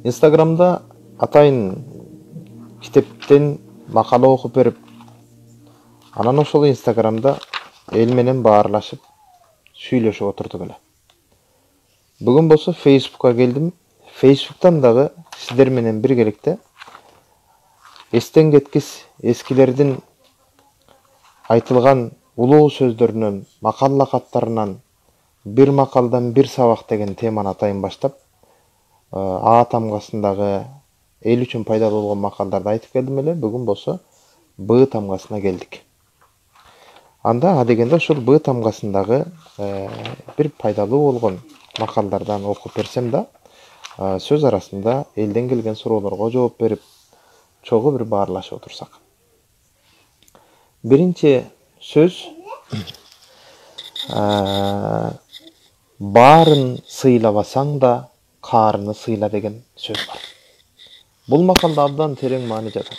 Инстаграмда атайын китептен макала окуп берип, анан ошол Инстаграмда эл менен баарлашып, сүйлөшүп отурдук эле. Бүгүн болсо Фейсбукка келдим. Фейсбуктан дагы сиздер менен биргеликте эстен кеткис эскилердин айтылган улуу сөздөрүнөн, макал лакаттарынан бир макалдан бир сабак деген теманы атайын баштап, А тамгасындагы эл үчүн пайдалуу болгон макалдарды айтып келдим эле. Бүгүн болсо Б тамгасына келдик. Анда адегенде ошол Б тамгасындагы бир пайдалуу болгон макалдардан окуп берсем да, сөз арасында элден келген суроолорго жооп берип, чогуу бир баарлашып отурсак. Биринчи сөз баарын сыйлабасаң да каарыны сыйла деген сөз бар. Бул макалда абдан терең маани жатат.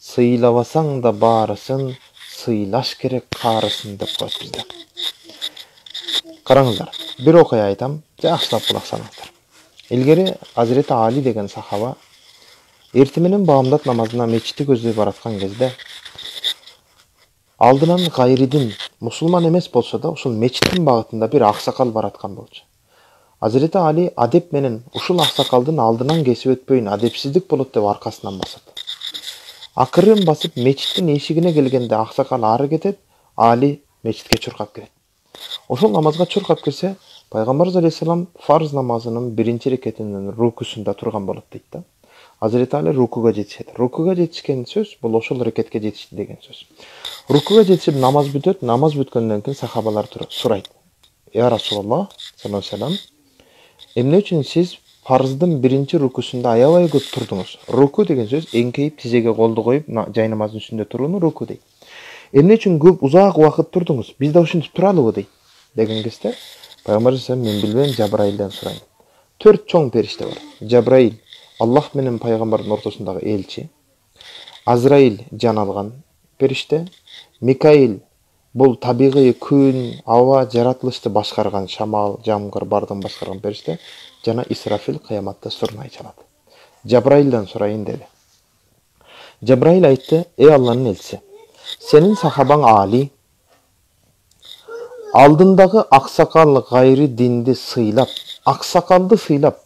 Сыйлабасаң да баарысын, сыйлаш керек каарысын деп коет бизде. Караңыздар, бир окуя айтам, жакшылап кулак салыңыздар. Илгери Азирети Али деген сахаба эртең менен баамдат намазына мечитти көздөй бараткан кезде алдынан гайридин, мусулман эмес болсо да, ушул мечиттин багытында бир аксакал бараткан болчу. Азирети Али адеп менен ушул аксакалдын алдынан кесип өтпөйүн, адепсиздик болот деп аркасынан басат. Акырын басып мечиттин эшигине келгенде аксакал ары кетет, Али мечитке чуркап кирет. Ошол намазга чуркап кирсе, Пайгамбарыбыз алейхиссалам фарз намазынын биринчи рекетинин рукусунда турган болот дейт да. Азирети Али рукуга жетишет. Рукуга жетишкен сөз бул ошол рекетке жетишти деген сөз. Рукуга жетишип намаз бүтөт, намаз бүткөндөн кийин сахабалар сурайт. Я Расулаллах саллаллаху алейхи вассалам, эмне үчүн сиз фарздын биринчи рукусунда аябай көп турдуңуз? Руку деген сөз эңкейип тизеге колду коюп жай намаздын үстүндө турууну руку дейт. Эмне үчүн көп узак убакыт турдуңуз? Биз да ушинтип туралыбы дейт. Деген кезде Пайгамбар мен билбейм, Жабраилден сурайын. 4 чоң периште бар. Жабраил Аллах менен пайгамбардын ортосундагы элчи. Азраил жан алган периште. Микаил бул табигый күн, аба, жаратылышты башкарган, шамал, жамгыр бардын башкарган периште. Жана Исрафил кыяматта сурнай чалат. Жабраилден сурайын деди. Жабраил айтты: "Эй Алланын элчиси, сенин сахабаң Али алдындагы аксакал гайри динди сыйлап, аксакалды сыйлап,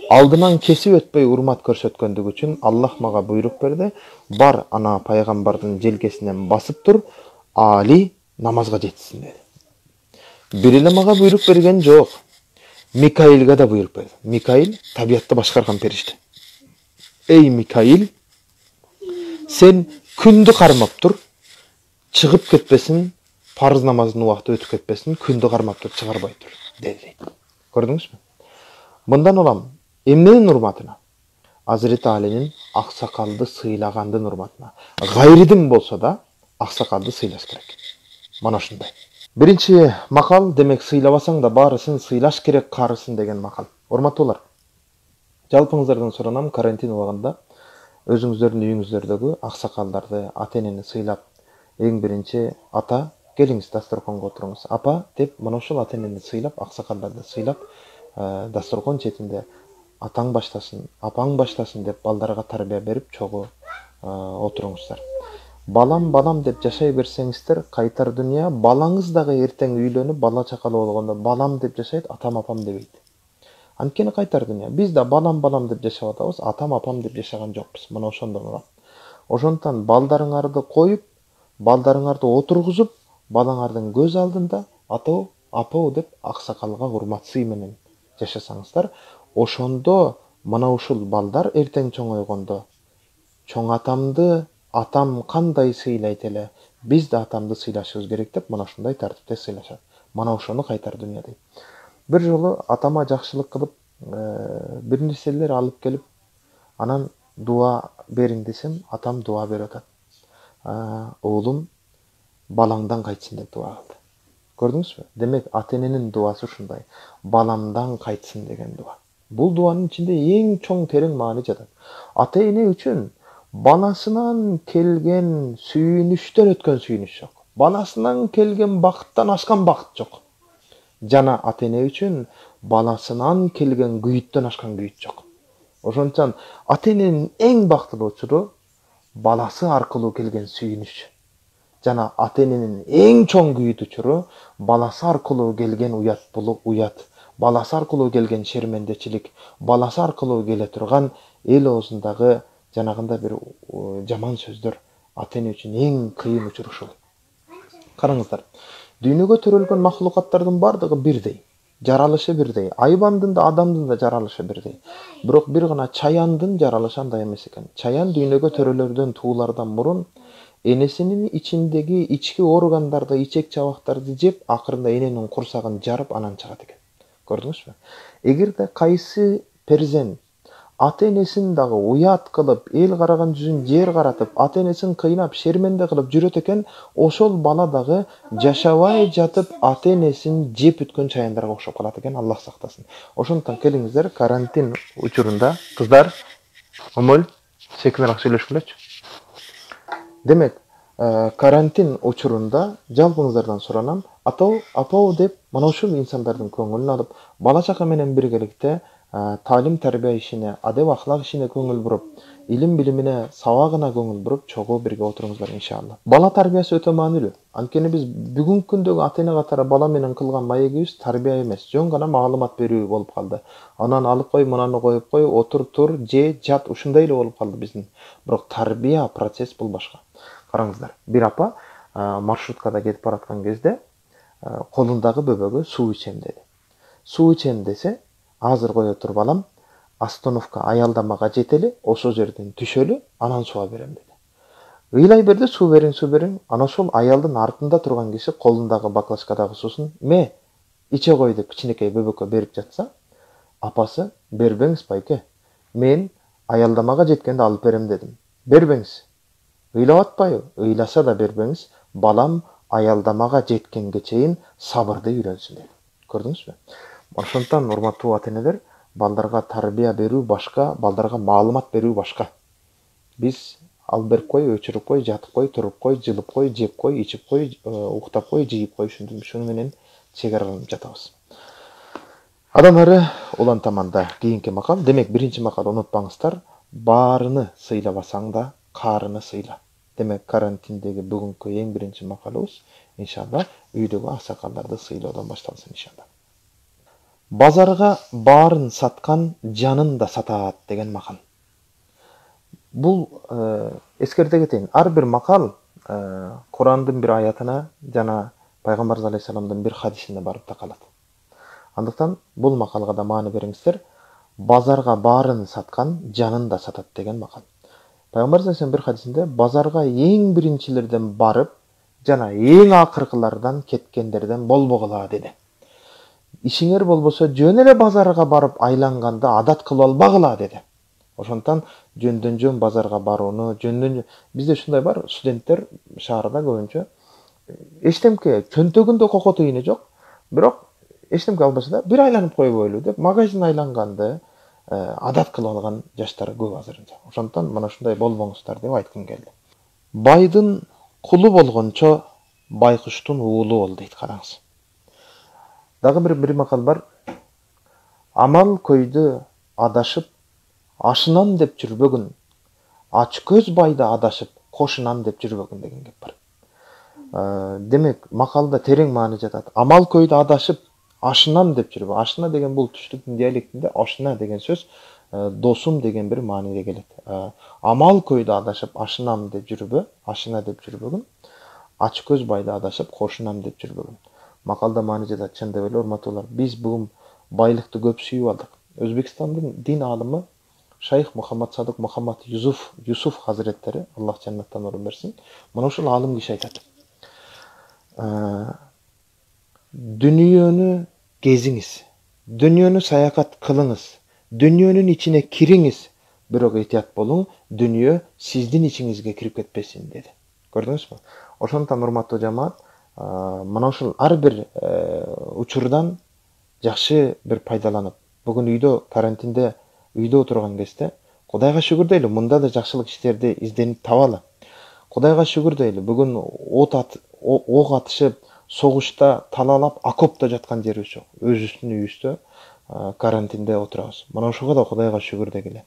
алдынан кесип өтпөй урмат көрсөткөндүгү үчүн Аллах мага буйрук берди. Бар ана пайгамбардын желкесинен басып тур, Али намазга жетсин" деди. Бир эле мага буйрук берген жок. Микаилге да буйрук берди. Микаил табиатты башкарган периште. Эй Микаил, сен күндү кармап тур, чыгып кетпесин, парыз намазынын убакыты өтүп кетпесин, күндү кармап тур, чыгарбай тур деди. Көрдүңүзбү? Мындан улам эмненин урматына? Азирети Алинин аксакалды сыйлагандын урматына. Гайридин болсо да аксакалды сыйлаш керек. Мана ушундай. Биринчи макал, демек сыйлабасаң да баарысын сыйлаш керек каарысын деген макал. Урматтуулар, жалпыңыздардан суранам, карантин убагында өзүңүздөрдүн үйүңүздөрдөгү аксакалдарды, ата-энени сыйлап, эң биринчи ата, келиңиз дасторконго отуруңуз. Апа деп мына ошол ата-энени сыйлап, аксакалдарды сыйлап, дасторкон четинде атаң баштасын, апаң баштасын деп балдарга тарбия берип чогуу отуруңуздар. Балам деп жашай берсеңиздер, кайтар дүйнө, балаңыз дагы эртең үйлөнүп, бала чакалуу болгондо балам деп жашайт, атам апам дебейт. Анткени кайтар дүйнө. Биз да балам деп жашап атабыз, атам апам деп жашаган жокпуз. Мына ошондон улам. Ошондон балдарыңарды коюп, балдарыңарды отургузуп, балаңардын көз алдында атау, апау деп аксакалга урмат сый менен жашасаңыздар, ошондо мына ушул балдар эртең чоңойгондо чоң атамды атам кандай сыйлайт эле, биз да атамды сыйлашыбыз керек деп мына ушундай тартипте сыйлашат. Мана ошону кайтар дүйнө дейт. Бир жолу атама жакшылык кылып, бир нерселер алып келип, анан дуа бериң десем, атам дуа берип атат. Оолум балаңдан кайтсын деп дуа кылды. Көрдүңүзбү? Демек ата-эненин дуасы ушундай. Баламдан кайтсын деген дуа. Бул дуанын ичинде эң чоң терең маани жатат. Ата-эне үчүн баласынан келген сүйүнүштөн өткөн сүйүнүш жок. Баласынан келген бакыттан ашкан бакыт жок. Жана ата-эне үчүн баласынан келген күйүттөн ашкан күйүт жок. Ошончон ата эненин эң бактылуу учуру баласы аркылуу келген сүйүнүч жана ата эненин эң чоң күйүт учуру баласы аркылуу келген уят, баласы аркылуу келген шермендечилик, баласы аркылуу келе турган эл оозундагы жанагындай бир жаман сөздөр ата эне үчүн эң кыйын учур ушул. Караңыздар, дүйнөгө төрөлгөн махлукаттардын бардыгы бирдей, жаралышы бирдей, айбандын да адамдын да жаралышы бирдей. Бирок бир гана чаяндын жаралышы андай эмес экен. Чаян дүйнөгө төрөлөрдөн туулардан мурун энесинин ичиндеги ички органдарды, ичек чабактарды жеп, акырында эненин курсагын жарып анан чыгат экен. Көрдүңүзбү? Эгерде кайсы перзент ата энесин дагы уят кылып, эл караган жүзүн жер каратып, ата энесин кыйнап, шерменде кылып жүрөт экен, ошол бала дагы жашабай жатып ата энесин жеп бүткөн чаяндарга окшоп калат экен, Аллах сактасын. Ошондуктан келиңиздер, карантин учурунда кыздар, Омоль, секинирээк сүйлөшкүлөчү. Демек, карантин учурунда жалпыңыздардан суранам, апау деп мына ушул инсандардын көңүлүн алып, бала чака менен биргеликте талим тарбия ишине, адеп ахлак ишине көңүл буруп, илим билимине, сабагына көңүл буруп, чогуу бирге отуруңуздар иншалла. Бала тарбиясы өтө маанилүү. Анткени биз бүгүнкү күндөгү ата эне катары бала менен кылган маегибиз тарбия эмес, жөн гана маалымат берүү болуп калды. Анан алып кой, мунаны коюп кой, отур, тур, же, жат, ушундай эле болуп калды биздин. Бирок тарбия процесс бул башка. Караңыздар, бир апа маршруткада кетип бараткан кезде колундагы бөбөгө суу ичем деди. Суу ичем десе, азыр кое тур балам, остановка аялдамага жетели, ошол жерден түшөлү, анан суу берем деди. Ыйлай берди, суу бериң. Анан ошол аялдын артында турган киши колундагы баклажкадагы суусун иче кой деп кичинекей бөбөккө берип жатса, апасы бербеңиз байке, мен аялдамага жеткенде алып берем дедим. Бербеңиз. Ыйлап атпайбы? Ыйласа да бербеңиз, балам аялдамага жеткенге чейин сабырды үйрөнсүн деди. Көрдүңүзбү? Ошондуктан урматтуу ата энелер, балдарга тарбия берүү башка, балдарга маалымат берүү башка. Биз алып берип кой, өчүрүп кой, жатып кой, туруп кой, жылып кой, жеп кой, ичип кой, уктап кой, жыйып кой, шуну менен чегараланып жатабыз. Адан ары улан таманда кийинки макал. Демек, биринчи макал унутпаңыздар, баарыны сыйлабасаң да каарыны сыйла. Демек, карантиндеги бүгүнкү эң биринчи макалыбыз иншалла үйдөгү аксакалдарды сыйлоодон башталсын иншалла. Базарга баарын саткан жанын да сатат деген макал. Бул эскерте кетейин. Ар бир макал Курандын бир аятына жана Пайгамбарыбыз алейхисаламдын бир хадисине барып такалат. Андыктан бул макалга да маани бериңиздер. Базарга баарын саткан жанын да сатат деген макал. Пайгамбарыбыз алейхисалам бир хадисинде базарга эң биринчилерден барып, жана эң акыркылардан кеткендерден болбогула деди. Ишиңер болбосо жөн эле базарга барып айланганда адат кылып албагыла деди. Ошондуктан жөндөн-жөн базарга барууну, бизде ушундай бар, студенттер шаарда көбүнчө эчтемке чөнтөгүндө кокоту ийне жок, бирок эчтемке албаса да бир айланып койбойлу деп магазин айланганды адат кылып алган жаштар көп азырынча. Ошондуктан мына ушундай болбоңуздар деп айткым келди. Байдын кулу болгончо байкуштун уулу бол дейт, караңыз. Дагы бир макал бар. Амал көйдө адашып, ашынан деп жүрбөгүн, ач көз байда адашып, кошунан деп жүрбөгүн деген кеп бар. Демек, макалда терең маани жатат. Амал көйдө адашып, ашынан деп жүрбө. Ашына деген бул түштүктүн диалектинде ашына деген сөз досум деген бир мааниге келет. Амал көйдө адашып, ашынан деп жүрбө, ашына деп жүрбөгүн, ач көз байда адашып, кошунан деп жүрбөгүн. Макалда маани жатат, чын деп эле урматтуулар. Биз бүгүн байлыкты көп сүйүп алдык. Өзбекстандын дин аалымы Шайх Мухаммад Садык Мухаммад Юсуф Хазреттери, Аллах жаннаттан орун берсин, мына ушул аалым киши айтат. Дүнүйөнү кезиңиз, дүнүйөнү саякат кылыңыз, дүнүйөнүн ичине кириңиз, бирок этият болуң, дүнүйө сиздин ичиңизге кирип кетпесин деди. Көрдүңүзбү? Ошондуктан урматтуу жамаат, мына ушул ар бир учурдан жакшы бир пайдаланып, бүгүн үйдө карантинде үйдө отурган кезде Кудайга шүгүр дейли, мында да жакшылык иштерди изденип табалы. Кудайга шүгүр дейли, бүгүн ок атышып, согушта талаалап, окопто жаткан жерибиз жок. Өзүбүздүн үйүбүздө карантинде отурабыз. Мына ошого да Кудайга шүгүр дегиле.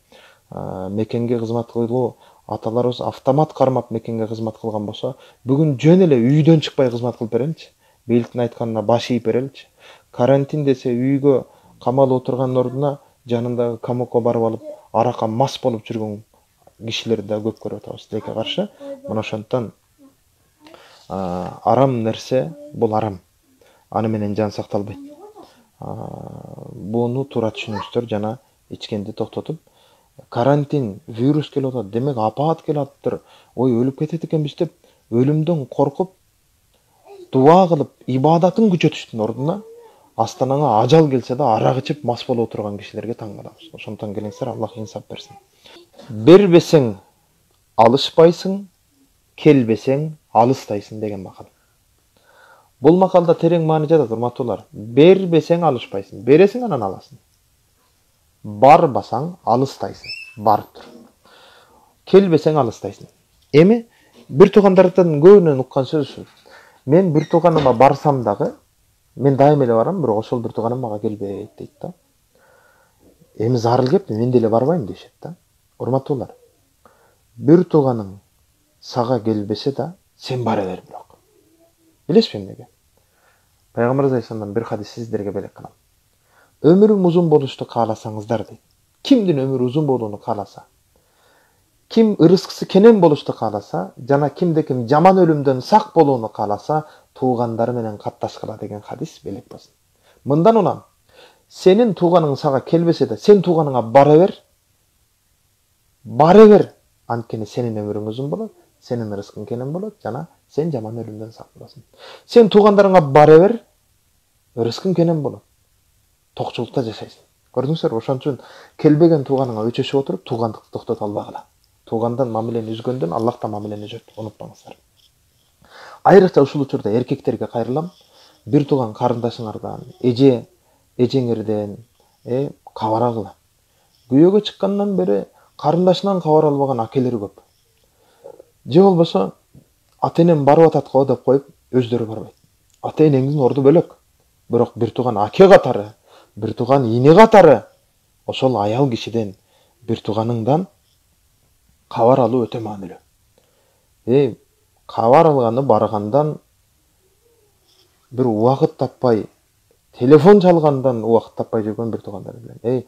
Мекенге кызмат кылуу, аталарыбыз автомат кармап мекенге кызмат кылган болсо, бүгүн жөн эле үйдөн чыкпай кызмат кылып береличи. Бийликтин айтканына баш ийип береличи. Карантин десе үйгө камалып отурган ордуна жанындагы камокко барып алып, аракка мас болуп жүргөн кишилерди да көп көрүп атабыз тилекке каршы. Мына ошондон арам нерсе бул арам. Аны менен жан сакталбайт. Буну туура түшүнүңүздөр жана ичкенди токтотуп, карантин, вирус келип атат, демек апаат келип атыптыр, ой өлүп кетет экенбиз деп өлүмдөн коркуп, дуа кылып, ибадатын күчөтүштүн ордуна астанаңа ажал келсе да арак ичип мас болуп отурган кишилерге таң калабыз. Ошондон келиңиздер, Аллах инсап берсин. Бербесең алышпайсың, келбесең алыстайсың деген макал. Бул макалда терең маани жатат, урматтуулар. Бербесең алышпайсың, бересиң анан аласың. Барбасаң алыстайсың, барып тур. Келбесең алыстайсың. Эми бир туугандардан көбүнөн уккан сөз. Мен бир тууганыма барсам дагы, мен дайым эле барам, бирок ошол бир тууганым мага келбейт дейт да. Эми зарыл кеп, мен деле барбайм дешет да. Урматтуулар, бир тууганың сага келбесе да, сен бара бер бирок. Билесизби эмнеге? Пайгамбар алейхиссаламдан бир хадис сиздерге белек кылам. Өмүрүм узун болушту кааласаңыздар дейт. Кимдин өмүрү узун болууну кааласа, ким ырыскысы кенен болушту кааласа, жана кимде ким жаман өлүмдөн сак болууну кааласа, туугандары менен катташкыла деген хадис белек болсун. Мындан улам, сенин тууганың сага келбесе да, сен тууганыңа бара бер. Бара бер. Анткени сенин өмүрүң узун болот, сенин ырыскың кенен болот, жана сен жаман өлүмдөн сак болосуң. Сен туугандарыңа бара бер, ырыскың кенен болот. Токчулукта жашайсың. Көрдүңүздөр, ошон үчүн келбеген тууганыңа өчөшүп отуруп, туугандыкты токтото албагыла. Туугандан мамилени үзгөндөн Аллах да мамилени үзөт, унутпаңыздар. Айрыкча ушул учурда эркектерге кайрылам. Бир тууган карындашыңардан, эжеңерден кабар алгыла. Күйөөгө чыккандан бери карындашынан кабар албаган акелер көп. Же болбосо ата-энем барып атат го деп коюп, өздөрү барбайт. Ата-энеңдин орду бөлөк. Бирок бир тууган аке катары, бир тууган ини катары, ошол аял кишиден, бир тууганыңдан кабар алуу өтө маанилүү. Кабар алганы баргандан, бир убакыт таппай, телефон чалгандан убакыт таппай жүргөн бир туугандар билем.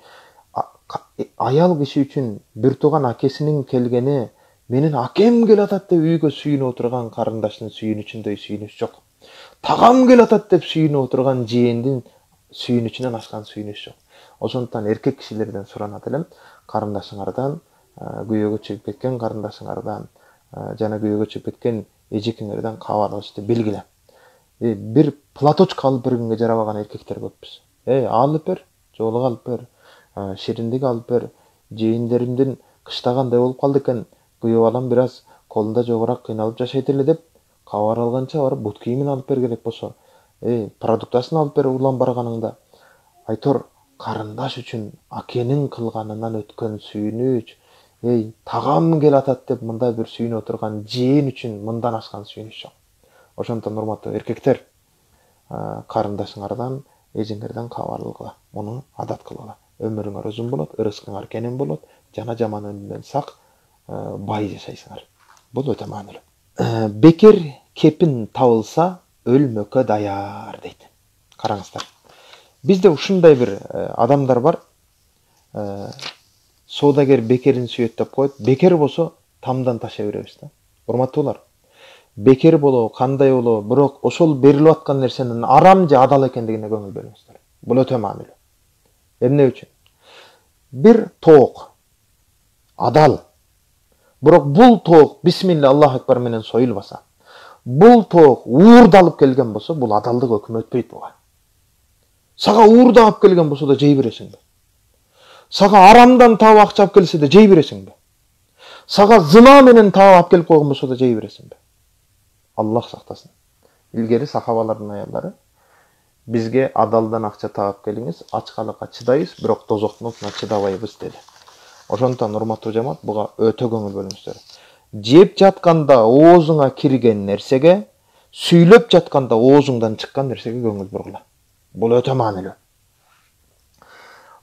Аял киши үчүн бир тууган акесинин келгени, менин акем келип атат деп үйгө сүйүнүп отурган карындашынын сүйүнүчүндөй сүйүнүч жок. Тагам келип атат деп сүйүнүп отурган жээндин сүйүнүчүнөн ашкан сүйүнүч жок. Ошондуктан эркек кишилерден суранат элем, карындашыңардан, күйөөгө чыгып кеткен карындашыңардан, жана күйөөгө чыгып кеткен эжекеңерден кабар алышты белгиле. Бир платочка алып бергенге жарабаган эркектер көппүз. Алып бер, жоолук алып бер, шириндик алып бер, жээндеримдин кыштагандай болуп калды экен, күйөө балам бир аз колунда жогорак кыйналып жашайт эле деп кабар алганча барып бут кийимин алып бергилек болсо, продуктасын алып бер улам барганыңда. Айтор, карындаш үчүн акенин кылганынан өткөн сүйүнүч, тагам келип атат деп мындай бир сүйүнүп отурган жээн үчүн мындан ашкан сүйүнүч жок. Ошондон урматтуу эркектер, карындашыңардан, эжеңерден кабар алгыла, муну адат кылгыла. Өмүрүңөр узун болот, ырыскыңар кенен болот, жана жаман өлүмдөн сак, бай жашайсыңар. Бул өтө маанилүү. Бекер кепин табылса, өлмөккө даяр дейт. Караңыздар. Бизде ушундай бир адамдар бар. Соодагер бекерин сүйөт деп коет. Бекер болсо тамдан ташай беребиз да. Урматтуулар, бекер болобу, кандай болобу, бирок ошол берилип аткан нерсенин арам же адал экендигине көңүл бөлүңүздөр. Бул өтө маанилүү. Эмне үчүн? Бир тоок адал. Бирок бул тоок бисмилла Аллах акбар менен союлбаса, бул тоок уурдалып келген болсо, бул адалдык өкүмү өтпөйт буга. Сага уурдап келген болсо да жей бересиңби? Сага арамдан таап акча алып келсе да жей бересиңби? Сага зына менен таап алып келип койгон болсо да жей бересиңби? Аллах сактасын. Илгери сахабалардын аялдары бизге адалдан акча таап келиңиз, ачкалыкка чыдайбыз, бирок тозоктун отуна чыдабайбыз деди. Ошондон урматтуу жамаат, буга өтө көңүл бөлүңүздөр. Жеп жатканда оозуңа кирген нерсеге, сүйлөп жатканда оозуңдан чыккан нерсеге көңүл бургула. Бул өтө маанилүү.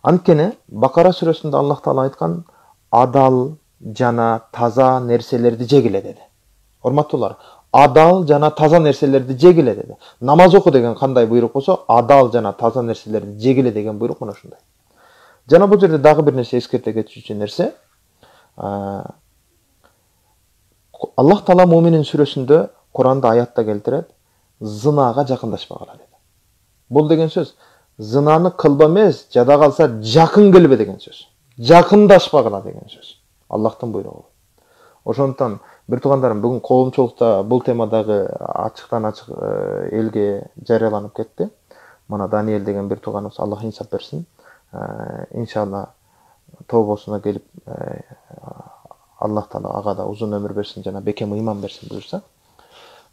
Анткени Бакара сүрөсүндө Аллах Таала айткан адал жана таза нерселерди жегиле деди. Урматтуулар, адал жана таза нерселерди жегиле деди. Намаз оку деген кандай буйрук болсо, адал жана таза нерселерди жегиле деген буйрук мына ушундай. Жана бул жерде дагы бир нерсе эскерте кетүүчү нерсе, Аллах Таала Муминин сүрөсүндө Куранда аятта келтирет, зынага жакындашпагыла деди. Бул деген сөз зынаны кылба эмес, жада калса жакын келбе деген сөз. Жакындашпагыла деген сөз. Аллахтын буйругу. Ошондуктан бир туугандарым, бүгүн коомчулукта бул темадагы ачыктан ачык элге жарыяланып кетти. Мына Даниэль деген бир тууганыбыз, Аллах инсап берсин. Иншалла тобосуна келип Аллах Таала ага да узун өмүр берсин жана бекем ыйман берсин буюрса,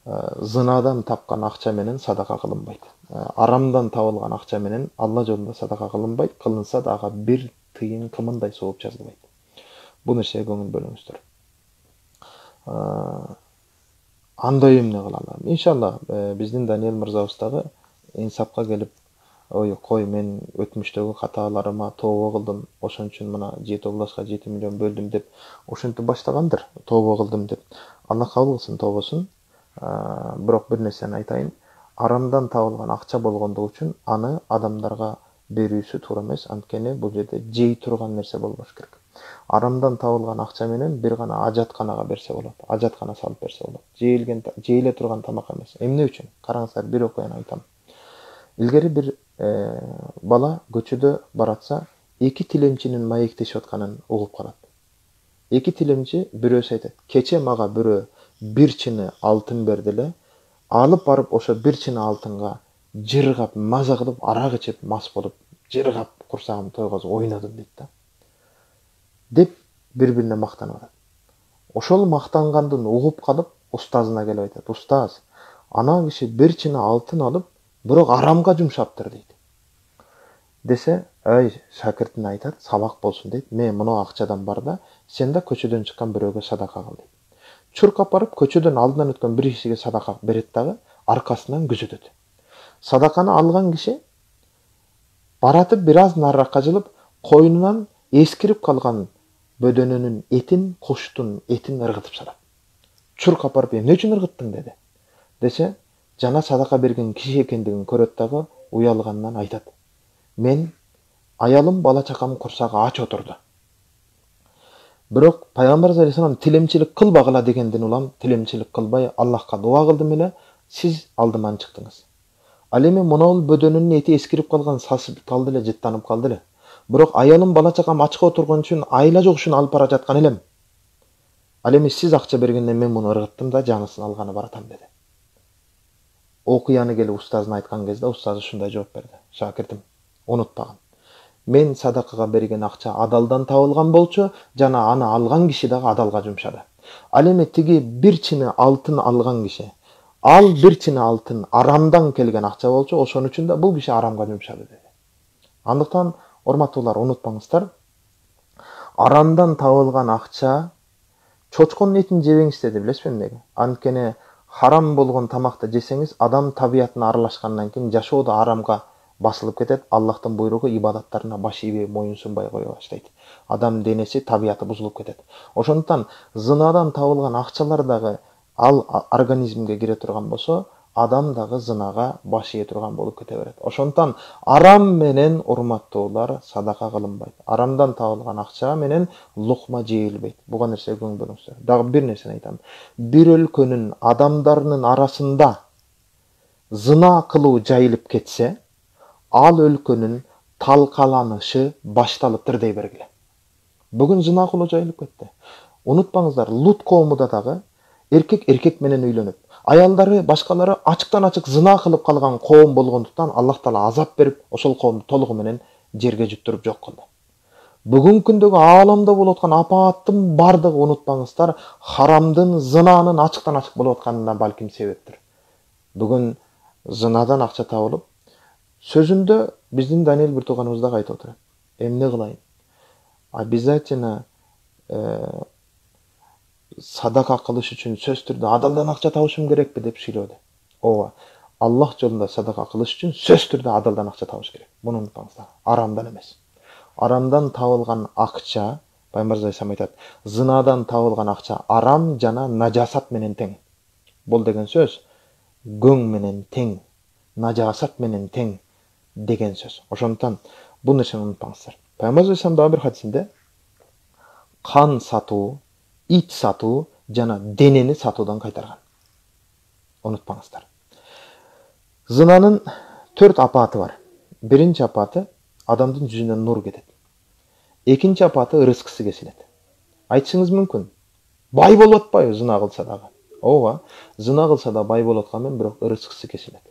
зынадан тапкан акча менен садака кылынбайт. Арамдан табылган акча менен Алла жолунда садака кылынбайт. Кылынса да ага бир тыйын кымындай сооп жазылбайт. Бул нерсеге көңүл бөлүңүздөр. Андай эмне кылалы? Иншалла биздин Даниэль мырзабыз дагы инсапка келип, кой мен өтмүштөгү каталарыма тообо кылдым, ошон үчүн мына 7 областка 7 миллион бөлдүм деп ошентип баштагандыр. Тообо кылдым деп. Алла кабыл кылсын тообосун. Бирок бир нерсени айтайын. Арамдан табылган акча болгондугу үчүн аны адамдарга берүүсү туура эмес. Анткени бул жерде жей турган нерсе болбош керек. Арамдан табылган акча менен бир гана ажатканага берсе болот. Ажаткана салып берсе болот. Жейле турган тамак эмес. Эмне үчүн? Караңыздар, бир окуяны айтам. Илгери бир бала көчөдө баратса, эки тилемчинин маектешип атканын угуп калат. Эки тилемчи бирөөсү айтат, кече мага бирөө бир чыны алтын берди эле, алып барып ошо бир чыны алтынга жыргап, маза кылып, арак ичип, мас болуп, жыргап, курсагым тойгозуп ойнодум дейт да. Деп бири-бирине мактанып атат. Ошол мактангандын угуп калып, устазына келип айтат, устаз, ана киши бир чыны алтын алып, бирок арамга жумшаптыр дейт. Десе, шакиртине айтат, сабак болсун дейт, мен мына акчадан бар да, сен да көчөдөн чыккан бирөөгө садака кыл дейт. Чуркап барып, көчөдөн алдынан өткөн бир кишиге садака берет дагы, аркасынан күзөтөт. Садаканы алган киши баратып бир аз нарыракка жылып, койнунан эскирип калган бөдөнөнүн этин, куштун этин ыргытып салат. Чуркап барып, эмне үчүн ыргыттың деди. Десе, жана садака берген киши экендигин көрөт дагы, уялгандан айтат. Мен аялым бала чакам курсагы ач отурду. Бирок Пайгамбар алейхиссалам тилемчилик кылбагыла дегенден улам тилемчилик кылбай Аллахка дуа кылдым эле, сиз алдыман чыктыңыз. Ал эми монол бөдөнүнүн эти эскирип калган, сасып калды эле, жыттанып калды эле. Бирок аялым бала чакам ачка отургон үчүн айла жок үчүн алып бара жаткан элем. Ал эми сиз акча бергенден мен муну ыргыттым да жанысын алганы баратам деди. Окуяны келип устазына айткан кезде устазы ушундай жооп берди. Шакиртим, унутпагын. Мен садакага берген акча адалдан табылган болчу, жана аны алган киши дагы адалга жумшады. Ал эми тиги бир чыны алтын алган киши, ал бир чыны алтын арамдан келген акча болчу, ошон үчүн да бул киши арамга жумшады деди. Андыктан, урматтуулар, унутпаңыздар, арамдан табылган акча, чочконун этин жебеңиз деди, билесизби эмнеге? Анткени харам болгон тамакты жесеңиз, адам табиятына аралашкандан кийин жашоо да арамга басылып кетет. Аллахтын буйругу ибадаттарына баш ийбей, моюн сунбай кое баштайт. Адам денеси, табияты бузулуп кетет. Ошондуктан зынадан табылган акчалар дагы ал организмге кире турган болсо, адам дагы зынага баш ие турган болуп кете берет. Ошондуктан арам менен, урматтуулар, садака кылынбайт. Арамдан табылган акча менен лукма жейилбейт. Буга нерсеге көңүл бөлүңүздөр. Дагы бир нерсени айтам. Бир өлкөнүн адамдарынын арасында зына кылуу жайылып кетсе, ал өлкөнүн талкаланышы башталыптыр дей бергиле. Бүгүн зына кылуу жайылып кетти. Унутпаңыздар, Лут коомунда дагы эркек менен үйлөнүп, аялдары башкалары ачыктан ачык зына кылып калган коом болгондуктан Аллах Таала азап берип, ошол коомду толугу менен жерге жуттуруп жок кылды. Бүгүнкү күндөгү ааламда болуп аткан апааттын бардыгы, унутпаңыздар, харамдын, зынанын ачыктан ачык болуп атканына балким себептир. Бүгүн зынадан акча табылып, сөзүндө биздин Даниэль бир тууганыбыз дагы айтып отурат. Эмне кылайын? Обязательно садака кылыш үчүн сөз түрдө адалдан акча табышым керекпи деп сүйлөдү. Ооба, Аллах жолунда садака кылыш үчүн сөз түрдө адалдан акча табыш керек. Муну унутпаңыздар. Арамдан эмес. Арамдан табылган акча, Пайгамбар алейхиссалам айтат, зынадан табылган акча арам жана нажасат менен тең. Бул деген сөз гөң менен тең, нажасат менен тең деген сөз. Ошондуктан бул нерсени унутпаңыздар. Пайгамбар алейхиссалам дагы бир хадисинде кан сатуу, ит сатуу жана денени сатуудан кайтарган. Унутпаңыздар. Зынанын 4 апаты бар. Биринчи апаты адамдын жүзүнөн нур кетет. Экинчи апаты рызкысы кесилет. Айтышыңыз мүмкүн. Бай болуп атпайбы зына кылса дагы? Ооба, зына кылса да бай болуп аткан менен бирок рызкысы кесилет.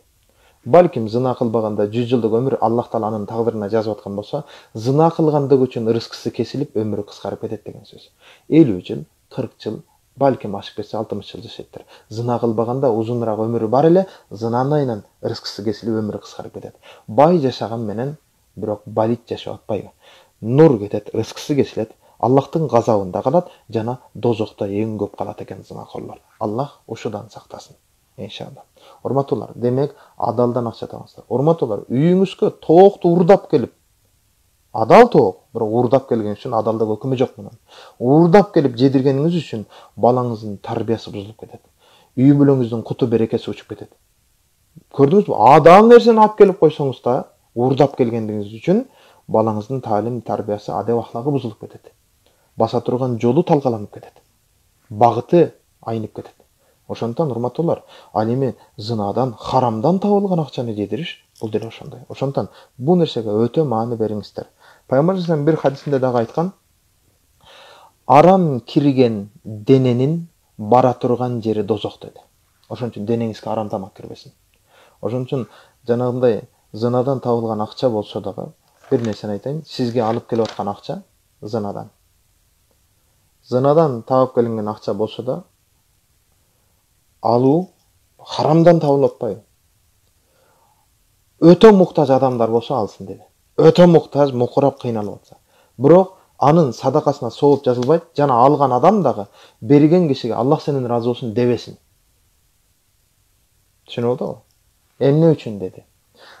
Балким зына кылбаганда 100 жылдык өмүр Аллах Таала анын тагдырына жазып аткан болсо, зына кылгандыгы үчүн рызкысы кесилип өмүрү кыскарып кетет деген сөз. 50 жыл, 40 жыл, балким ашып кетсе 60 жыл жашайттыр. Зына кылбаганда узунураак өмүрү бар эле, зынанын айынан рызкысы кесилип өмүрү кыскарып кетет. Бай жашаган менен бирок балит жашап атпайбы. Нур кетет, рызкысы кесилет, Аллахтын газабында калат жана дозокто эң көп калат экен зынакорлор. Аллах ушудан сактасын. Иншалла. Урматтуулар, демек адалдан акча табыңыздар. Урматтуулар, үйүңүзгө тоокту урдап келип, адал тоок, бирок урдап келген үчүн адалдык өкүмү жок мунун. Урдап келип жедиргениңиз үчүн балаңыздын тарбиясы бузулуп кетет. Үй бүлөңүздүн куту берекеси учуп кетет. Көрдүңүзбү? Адал нерсени алып келип койсоңуз да, урдап келгендигиңиз үчүн балаңыздын таалим тарбиясы, адеп ахлагы бузулуп кетет. Баса турган жолу талкаланып кетет. Багыты айнып кетет. Ошондуктан урматтуулар, ал эми зынадан, харамдан табылган акчаны жедириш бул деле ошондой. Ошондуктан бул нерсеге өтө маани бериңиздер. Пайгамбар саллаллаху алейхи вассалам бир хадисинде дагы айткан: арам кирген дененин бара турган жери дозок деди. Ошон үчүн денеңизге арам тамак кирбесин. Ошон үчүн жанагындай зынадан табылган акча болсо дагы бир нерсени айтайын, сизге алып келип аткан акча зынадан. Зынадан табып келинген акча болсо да алуу харамдан табылып атпайбы? Өтө муктаж адамдар болсо алсын деди. Өтө муктаж, мукурап кыйналып атса. Бирок анын садакасына сооп жазылбайт, жана алган адам дагы берген кишиге Аллах сенен разы болсун дебесин. Түшүнүп алдыңызбы? Эмне үчүн деди.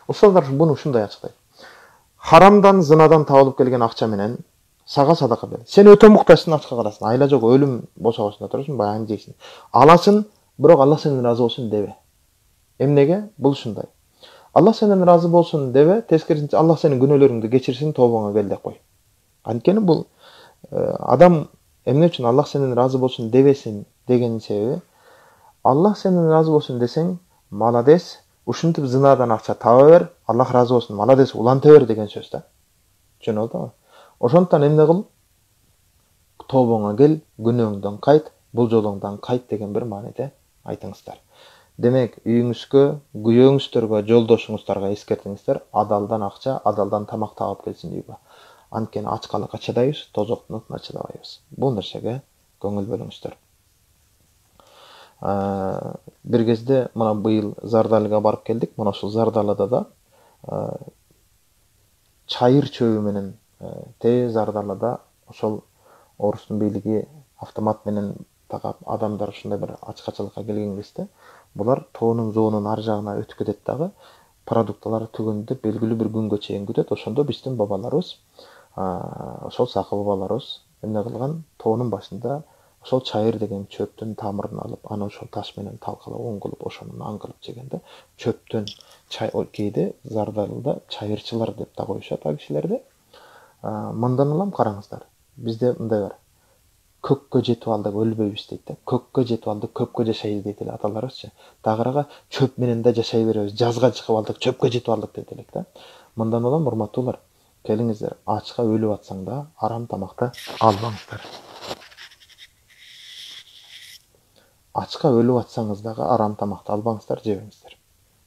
Устаздар буну ушундай ачыктайт. Харамдан, зынадан табылып келген акча менен сага садака бер. Сен өтө муктажсың, ачка карасың. Айла жок, өлүм бошогосунда турасың, баягы жейсиң. Аласың, бирок Аллах сенен разы болсун дебе. Эмнеге? Бул ушундай. Аллах сенен разы болсун дебе, тескерисинче Аллах сенин күнөөлөрүңдү кечирсин, тобоңо кел деп кой. Анткени бул адам эмне үчүн Аллах сенен разы болсун дебесин деген себеби, Аллах сенен разы болсун десең, маладес, ушинтип зынадан акча таба бер, Аллах разы болсун, маладес, уланта бер деген сөз да. Түшүнүп алдыңбы? Ошондуктан эмне кыл? Тобоңо кел, күнөөңдөн кайт, бул жолуңдан кайт деген бир мааниде айтыңыздар. Демек, үйүңүзгө, күйөөңүздөргө, жолдошуңуздарга эскертиңиздер, адалдан акча, адалдан тамак табып келсин үйгө. Анткени ачкалыкка чыдайбыз, тозоктун отуна чыдабайбыз. Бул нерсеге көңүл бөлүңүздөр. Бир кезде мына быйыл Зардалыга барып келдик. Мына ушул Зардалыда да чайыр чөбү менен Зардалыда ошол орустун бийлиги автомат менен тагап адамдар ушундай бир ачкачылыкка келген кезде булар тоонун зоонун ар жагына өтүп кетет дагы продукталар түгөндө белгилүү бир күнгө чейин күтөт. Ошондо биздин бабаларыбыз, ошол сакы бабаларыбыз эмне кылган? Тоонун башында ошол чайыр деген чөптүн тамырын алып, аны ошол таш менен талкалап, он кылып, ошону нан кылып жегенде чөптөн кээде Зардалыда чайырчылар деп да коюшат ал кишилерди. Мындан улам караңыздар. Бизде мындай бар. Көккө жетип алдык, өлбөйбүз дейт да. Көккө жетип алдык, көпкө жашайбыз дейт эле аталарыбызчы. Дагырага чөп менен да жашай беребиз. Жазга чыгып алдык, чөпкө жетип алдык дейт элек да. Мындан улам урматтуулар, келиңиздер, ачка өлүп атсаң да арам тамакты албаңыздар. Ачка өлүп атсаңыз дагы арам тамакты албаңыздар, жебеңиздер.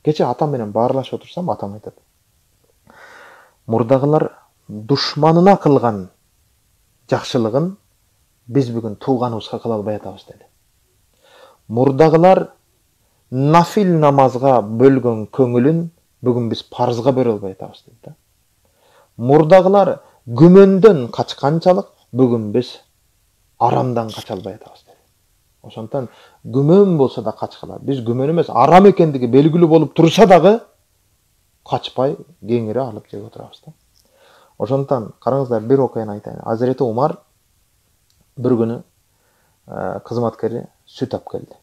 Кече атам менен баарлашып отурсам, атам айтат: мурдагылар душманына кылган жакшылыгын биз бүгүн тууганыбызга кыла албай атабыз деди. Мурдагылар нафил намазга бөлгөн көңүлүн бүгүн биз парзга бөлө албай атабыз деди. Мурдагылар күмөндөн качканчалык бүгүн биз арамдан кача албай атабыз деди. Ошондуктан күмөн болсо да качкыла. Биз күмөн эмес, арам экендиги белгилүү болуп турса дагы качпай, кеңири алып жеп отурабыз да. Ошондуктан караңыздар, бир окуяны айтайын. Азирети Умар бир күнү кызматкери сүт алып келди.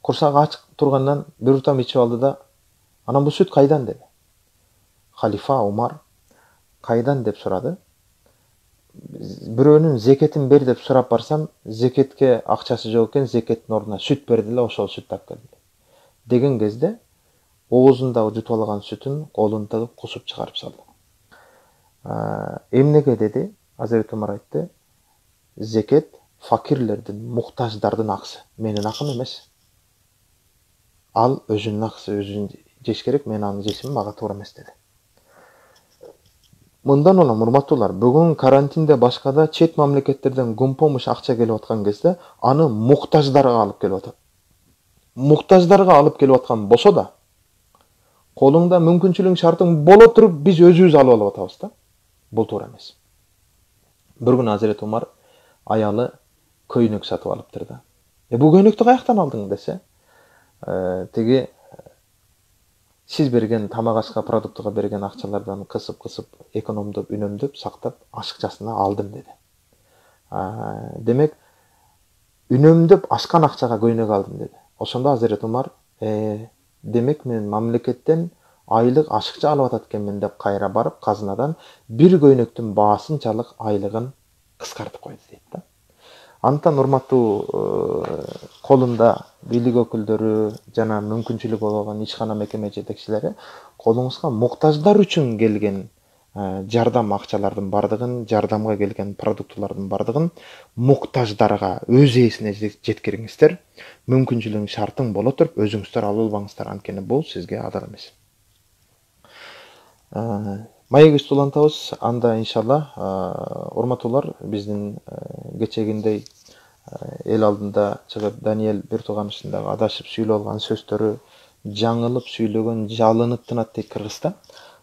Курсагы ачык тургандан бир утам ичип алды да, анан бул сүт кайдан деди. Халифа Умар кайдан деп сурады. Бирөөнүн зекетин бер деп сурап барсам, зекетке акчасы жок экен, зекеттин ордуна сүт берди эле, ошол сүттү алып келди деген кезде оозундагы жутуп алган сүтүн колун тыгып кусуп чыгарып салды. Эмнеге деди? Азирети Умар айтты, зекет факирлердин, муктаждардын акысы, менин акым эмес. Ал өзүнүн акысы, өзүн жеш керек, мен аны жесем мага туура эмес деди. Мындан улам, урматтуулар, бүгүн карантинде башкада чет мамлекеттерден гумпомуш акча келип аткан кезде аны муктаждарга алып келип атат. Муктаждарга алып келип аткан болсо да, колуңда мүмкүнчүлүгүң шартың боло туруп биз өзүбүз алып алып атабыз да. Бул туура эмес. Бир күнү Азирети Умар аялы көйнөк сатып алыптыр да. Бул көйнөктү каяктан алдың десе, тиги сиз берген тамак ашка продуктуга берген акчалардан кысып экономдоп, үнөмдөп, сактап ашыкчасына алдым деди. Демек, үнөмдөп ашкан акчага көйнөк алдым деди. Ошондо Азирети Умар, демек мен мамлекеттен айлык ашыкча алып атат экенмин деп кайра барып казынадан бир көйнөктүн баасынчалык айлыгын кыскартып койду дейт да. Антан урматтуу колунда бийлик өкүлдөрү жана мүмкүнчүлүгү болгон ишкана мекеме жетекчилери колуңузга муктаждар үчүн келген жардам акчалардын бардыгын, жардамга келген продуктулардын бардыгын муктаждарга өз ээсине жеткириңиздер. Мүмкүнчүлүгүң шартың боло туруп өзүңүздөр алып албаңыздар, анткени бул сизге адал эмес. Маегибизди улантабыз. Анда иншалла, урматтуулар, биздин кечегиндей эл алдында чыгып Даниэль бир тууганыбыздагы адашып сүйлөп алган сөздөрү жаңылып сүйлөгөн жалынып тынат дейт кыргызда.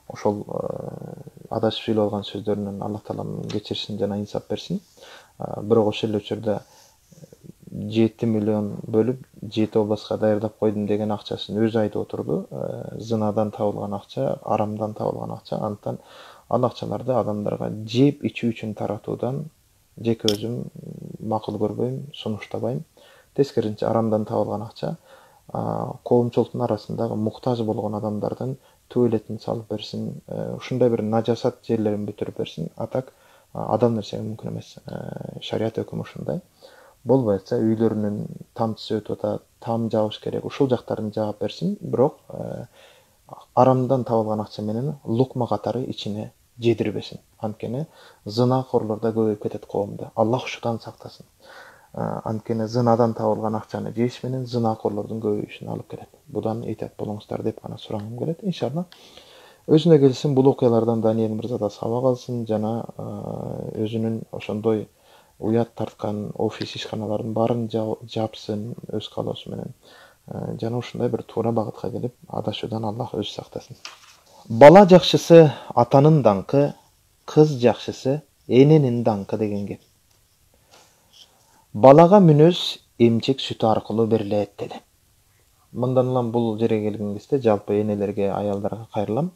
Ошол адашып сүйлөп алган сөздөрүнөн Аллах Таалам кечирсин жана инсап берсин. Бирок ошол эле учурда 7 миллион бөлүп 7 областка даярдап койдум деген акчасын өзү айтып отурду. Зынадан табылган акча, арамдан табылган акча. Антан ал акчаларды адамдарга жеп ичүү үчүн таратуудан жеке өзүм макул көрбөйм, сунуштабайм. Тескерисинче, арамдан табылган акча коомчулуктун арасындагы муктаж болгон адамдардын туалетин салып берсин, ушундай бир нажасат жерлерин бүтүрүп берсин. Атак адам нерсеге мүмкүн эмес. Шарият өкүмү ушундай. Болбой атса үйлөрүнүн тамчысы өтүп атат, там жабыш керек, ушул жактарын жаап берсин. Бирок арамдан табылган акча менен лукма катары ичине жедирбесин. Анткени зынакорлор да көбөйүп кетет коомдо. Аллах ушудан сактасын. Анткени зынадан табылган акчаны жеш менен зынакорлордун көбөйүшүнө алып келет. Будан этият болуңуздар деп гана сурагым келет. Иншалла өзүнө келсин, бул окуялардан Даниэль мырза да сабак алсын жана өзүнүн ошондой уят тарткан офис ишканаларын баарын жапсын өз каалоосу менен. Жана ушундай бир туура багытка келип, адашуудан Аллах өзү сактасын. Бала жакшысы атанын даңкы, кыз жакшысы эненин даңкы деген кеп. Балага мүнөз эмчек сүтү аркылуу берилет деди. Мындан улам бул жерге келген кезде жалпы энелерге, аялдарга кайрылам.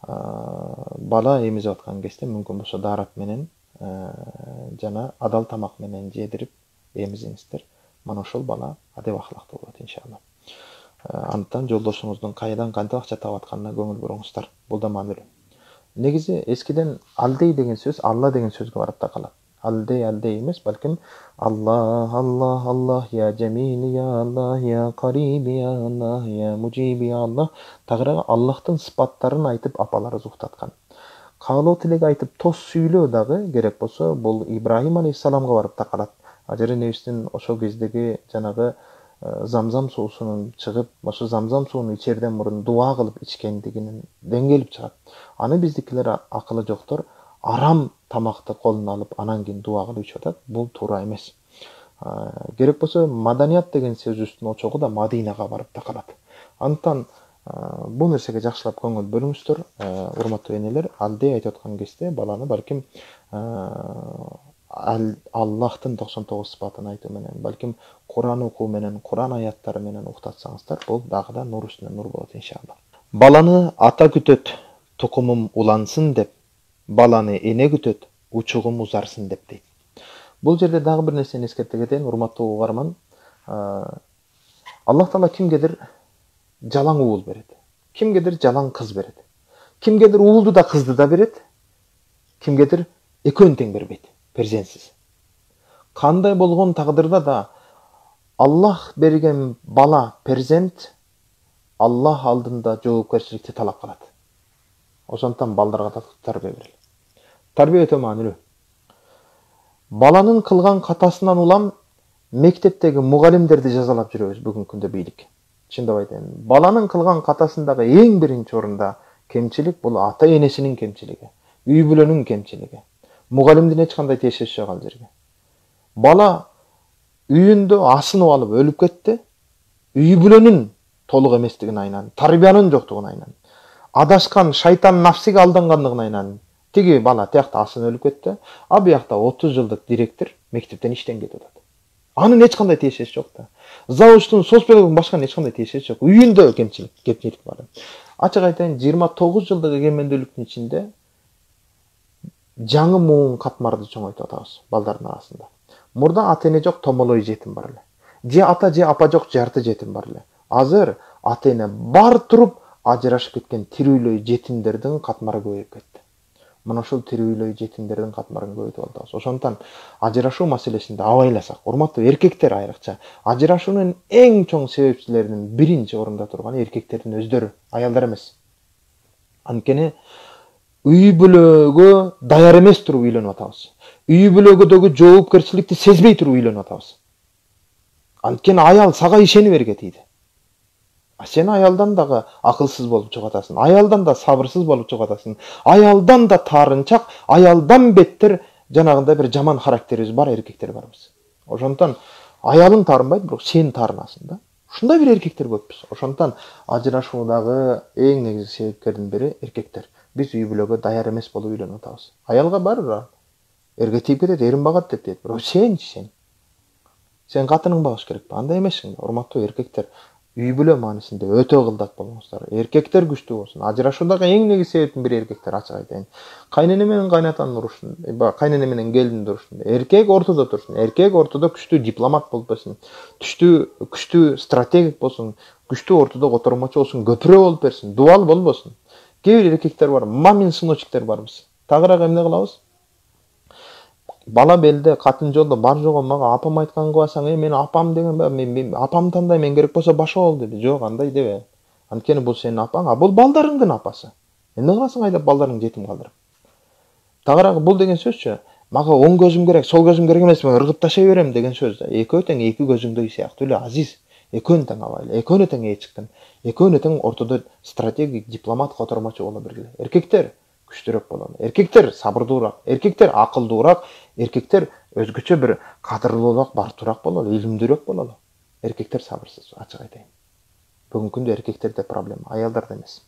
Бала эмизип аткан кезде мүмкүн болсо дарап менен жана адал тамак менен жедирип эмизиңиздер. Мана ошол бала адеп ахлактуу болот иншалла. Антан жолдошуңуздун кайдан кантип акча таап атканына көңүл буруңуздар. Бул да маанилүү. Негизи эскиден алдей деген сөз Алла деген сөзгө барып такалат. Алдей эмес, балким Аллах, Аллах, Аллах, я Джамил, я Аллах, я Кариб, я Аллах, я Муджиб, я Аллах. Тагырага Аллахтын сыпаттарын айтып апаларыбыз уктаткан. Каалоо тилек айтып тос сүйлөө дагы керек болсо, бул Ибрахим алейхиссаламга барып такалат. Ажары небистин ошол кездеги жанагы замзам суусунун чыгып, ошо замзам сууну ичерден мурун дуа кылып ичкендигинен келип чыгат. Аны биздикилер акылы жоктор арам тамакты колуна алып, анан кийин дуа кылып ичип атат. Бул туура эмес. Керек болсо маданият деген сөзүбүздүн очогу да Мадинага барып такалат. Антан бул нерсеге жакшылап көңүл бөлүңүздөр, урматтуу энелер. Алдей айтып аткан кезде баланы балким Аллахтын 99 сыпатын айтуу менен, балким Куран окуу менен, Куран аяттары менен уктатсаңыздар, бул дагы да нур үстүнө нур болот иншалла. Баланы ата күтөт, тукумум улансын деп, баланы эне күтөт, учугум узарсын деп дейт. Бул жерде дагы бир нерсени эскерте кетейин, урматтуу угарман. Аллах Таала кимгедир жалаң уул берет, кимгедир жалаң кыз берет, кимгедир уулду да кызды да берет, кимгедир экөөнү тең бербейт, перзентсиз. Кандай болгон тагдырда да Аллах берген бала, перзент Аллах алдында жоопкерчиликти талап кылат. Ошондуктан балдарга да тарбия берели. Тарбия өтө маанилүү. Баланын кылган катасынан улам мектептеги мугалимдерди жазалап жүрөбүз бүгүнкү күндө бийлик. Чындап айтайын. Баланын кылган катасындагы эң биринчи орунда кемчилик бул ата энесинин кемчилиги, үй бүлөнүн кемчилиги. Мугалимдин эч кандай тиешеси жок ал жерге. Бала үйүндө асынып алып өлүп кетти, үй бүлөнүн толук эместигин айынан, тарбиянын жоктугун айынан, адашкан шайтан нафсиге алдангандыгын айынан тиги бала тиякта асынып өлүп кетти, а биякта 30 жылдык директор мектептен иштен кетип атат. Анын эч кандай тиешеси жок да. Завучтун, соцпедагогдун башканын эч кандай тиешеси жок. Үйүндө кемчилик бар. Ачык айтайын, 29 жылдык эгемендүүлүктүн ичинде жаңы муун катмарды чоңойтуп атабыз балдардын арасында. Мурда ата эне жок, томолой жетим бар эле. Же ата же апа жок, жарты жетим бар эле. Азыр ата эне бар туруп ажырашып кеткен тирүүлөй жетимдердин катмары көбөйүп кетти. Мына ушул тирүүлөй жетимдердин катмарын көбөйтүп атабыз. Ошондуктан ажырашуу маселесинде абайласак, урматтуу эркектер айрыкча, ажырашуунун эң чоң себепчилеринин биринчи орунда турганы эркектердин өздөрү, аялдар эмес. Анткени үй бүлөгө даяр эмес туруп үйлөнүп атабыз. Үй бүлөгөдөгү жоопкерчиликти сезбей туруп үйлөнүп атабыз. Анткени аял сага ишени берге тийди. Сен аялдан дагы акылсыз болуп чыгып атасың, аялдан да сабырсыз болуп чыгып атасың, аялдан да таарынчак, аялдан беттер жанагындай бир жаман характерибиз бар эркектер барбыз. Ошондуктан аялың таарынбайт, бирок сен таарынасың да. Ушундай бир эркектер көппүз. Ошондуктан ажырашуудагы эң негизги себепкердин бири эркектер. Биз үй бүлөгө даяр эмес болуп үйлөнүп атабыз. Аялга барбыр, эрге тийип кетет, эрин багат деп дейт. Бирок сен катының багыш керекпи? Андай эмессиң да, урматтуу эркектер. Үй бүлө маанисинде өтө кылдат болуңуздар. Эркектер күчтүү болсун. Ажырашуудагы эң негизги себептин бири эркектер, ачык айтайын. Кайнене менен кайнатанын урушун, кайнене менен келиндин урушун. Эркек ортодо турсун. Эркек ортодо күчтүү дипломат болуп берсин. Күчтүү стратегик болсун. Күчтүү ортодо котормочу болсун, көпүрө болуп берсин. Дубал болбосун. Кээ бир эркектер бар, мамин сыночтер барбыз. Тагыраак эмне кылабыз? Бала белде, катын жолдо бар жого мага апам айтканын кыласаң, мен апам деген мен апам тандайм, мен керек болсо башка бол деби. Жок, андай дебе. Анткени бул сенин апаң, бул балдарыңдын апасы. Эмне кыласың айдап балдарыңды жетим калдырып? Тагыраак бул деген сөзчү, мага оң көзүм керек, сол көзүм керек эмес, мен ыргып ташай берем деген сөз да. Экөө тең эки көзүңдөй сыяктуу эле азиз. Экөөнү тең абайлы, экөөнү тең эчиктин, экөөнү тең ортодо стратегик дипломат котормочу боло бергиле. Эркектер күчтүүрөөк бололу. Эркектер сабырдуураак, эркектер акылдуураак, эркектер өзгөчө бир кадырлуулук, бартуураак бололу, илимдүүрөөк бололу. Эркектер сабырсыз, ачык айтайын. Бүгүнкү күндө эркектерде проблема, аялдарда эмес.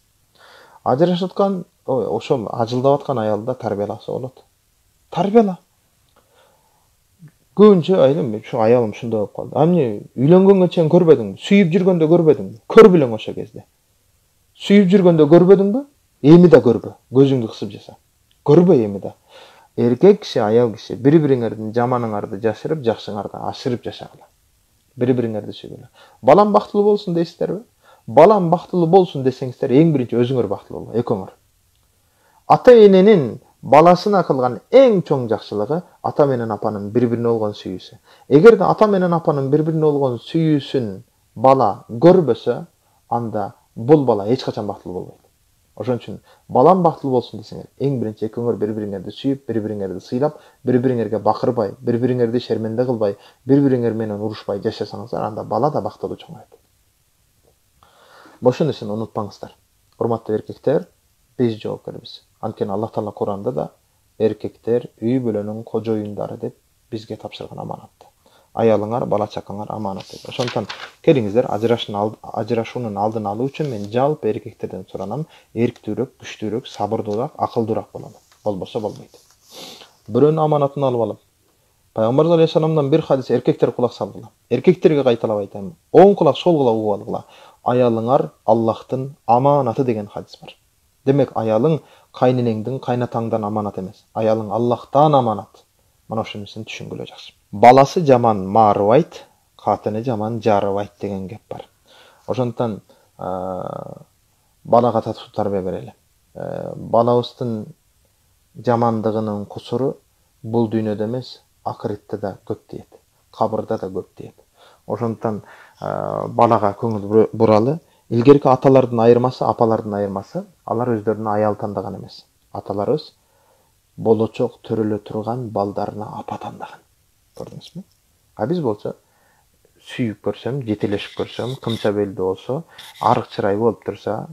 Ажырашып аткан, ошол ажылдап аткан аялды тарбияласа болот. Тарбияла. Көбүнчө айдым, ушу аялым ушундай болуп калды. Эмне үйлөнгөнгө чейин көрбөдүңбү? Сүйүп жүргөндө көрбөдүңбү? Көрбүлөң ошол кезде. Сүйүп жүргөндө көрбөдүңбү? Эми да көрбө, көзүңдү кысып жаса. Көрбө эми да. Эркек киши, аял киши бири-бириңердин жаманыңарды жашырып, жакшыңарды ашырып жашагыла. Бири-бириңерди сүйгүлө. Балам бактылуу болсун дейсиздерби? Балам бактылуу болсун десеңиздер, эң биринчи өзүңөр бактылуу боло, экөөңөр. Ата эненин баласына кылган эң чоң жакшылыгы ата менен апанын бири-бирине болгон сүйүүсү. Эгерде ата менен апанын бири-бирине болгон сүйүүсүн бала көрбөсө, анда бул бала эч качан бактылуу болбойт. Ошон үчүн балам бактылуу болсун десеңер, эң биринчи экөөңөр бири-бириңерди сүйүп, бири-бириңерди сыйлап, бири-бириңерге бакырбай, бири-бириңерди шерменде кылбай, бири-бириңер менен урушпай жашасаңыздар, анда бала да бактылуу чоңойот. Ошол нерсени унутпаңыздар. Урматтуу эркектер, биз жоопкербиз. Анткени Аллах Таала Куранда да эркектер үй бүлөнүн кожоюндары деп бизге тапшырган аманатты. Аялыңар, бала чакаңар аманат деп. Ошондуктан келиңиздер, ажырашуунун алдын алуу үчүн мен жалпы эркектерден суранам, эрктүүрөөк, күчтүүрөөк, сабырдуураак, акылдуураак бололу. Болбосо болбойт. Бирөөнүн аманатын алып алып, Пайгамбар алейхиссаламдан бир хадис эркектер кулак салгыла. Эркектерге кайталап айтам. Оң кулак, сол кулак угуп алгыла. Аялыңар Аллахтын аманаты деген хадис бар. Демек аялың кайненеңдин, кайнатаңдан аманат эмес. Аялың Аллахтан аманат. Мына ошонусун түшүнгүлө жакшы. Баласы жаман маарыбайт, катыны жаман жарыбайт деген кеп бар. Ошондуктан балага татуу тарбия берели. Балабыздын жамандыгынын кусуру бул дүйнөдө эмес, акыретте да көп тиет, кабырда да көп тиет. Ошондуктан балага көңүл буралы. Илгерки аталардын айырмасы, апалардын айырмасы, алар өздөрүнө аял тандаган эмес. Аталарыбыз болочок төрөлө турган балдарына апа тандаган. Көрдүңүзбү? А биз болсо сүйүп көрсөм, жетелешип көрсөм, кымча белдүү болсо, арык чырай болуп турса,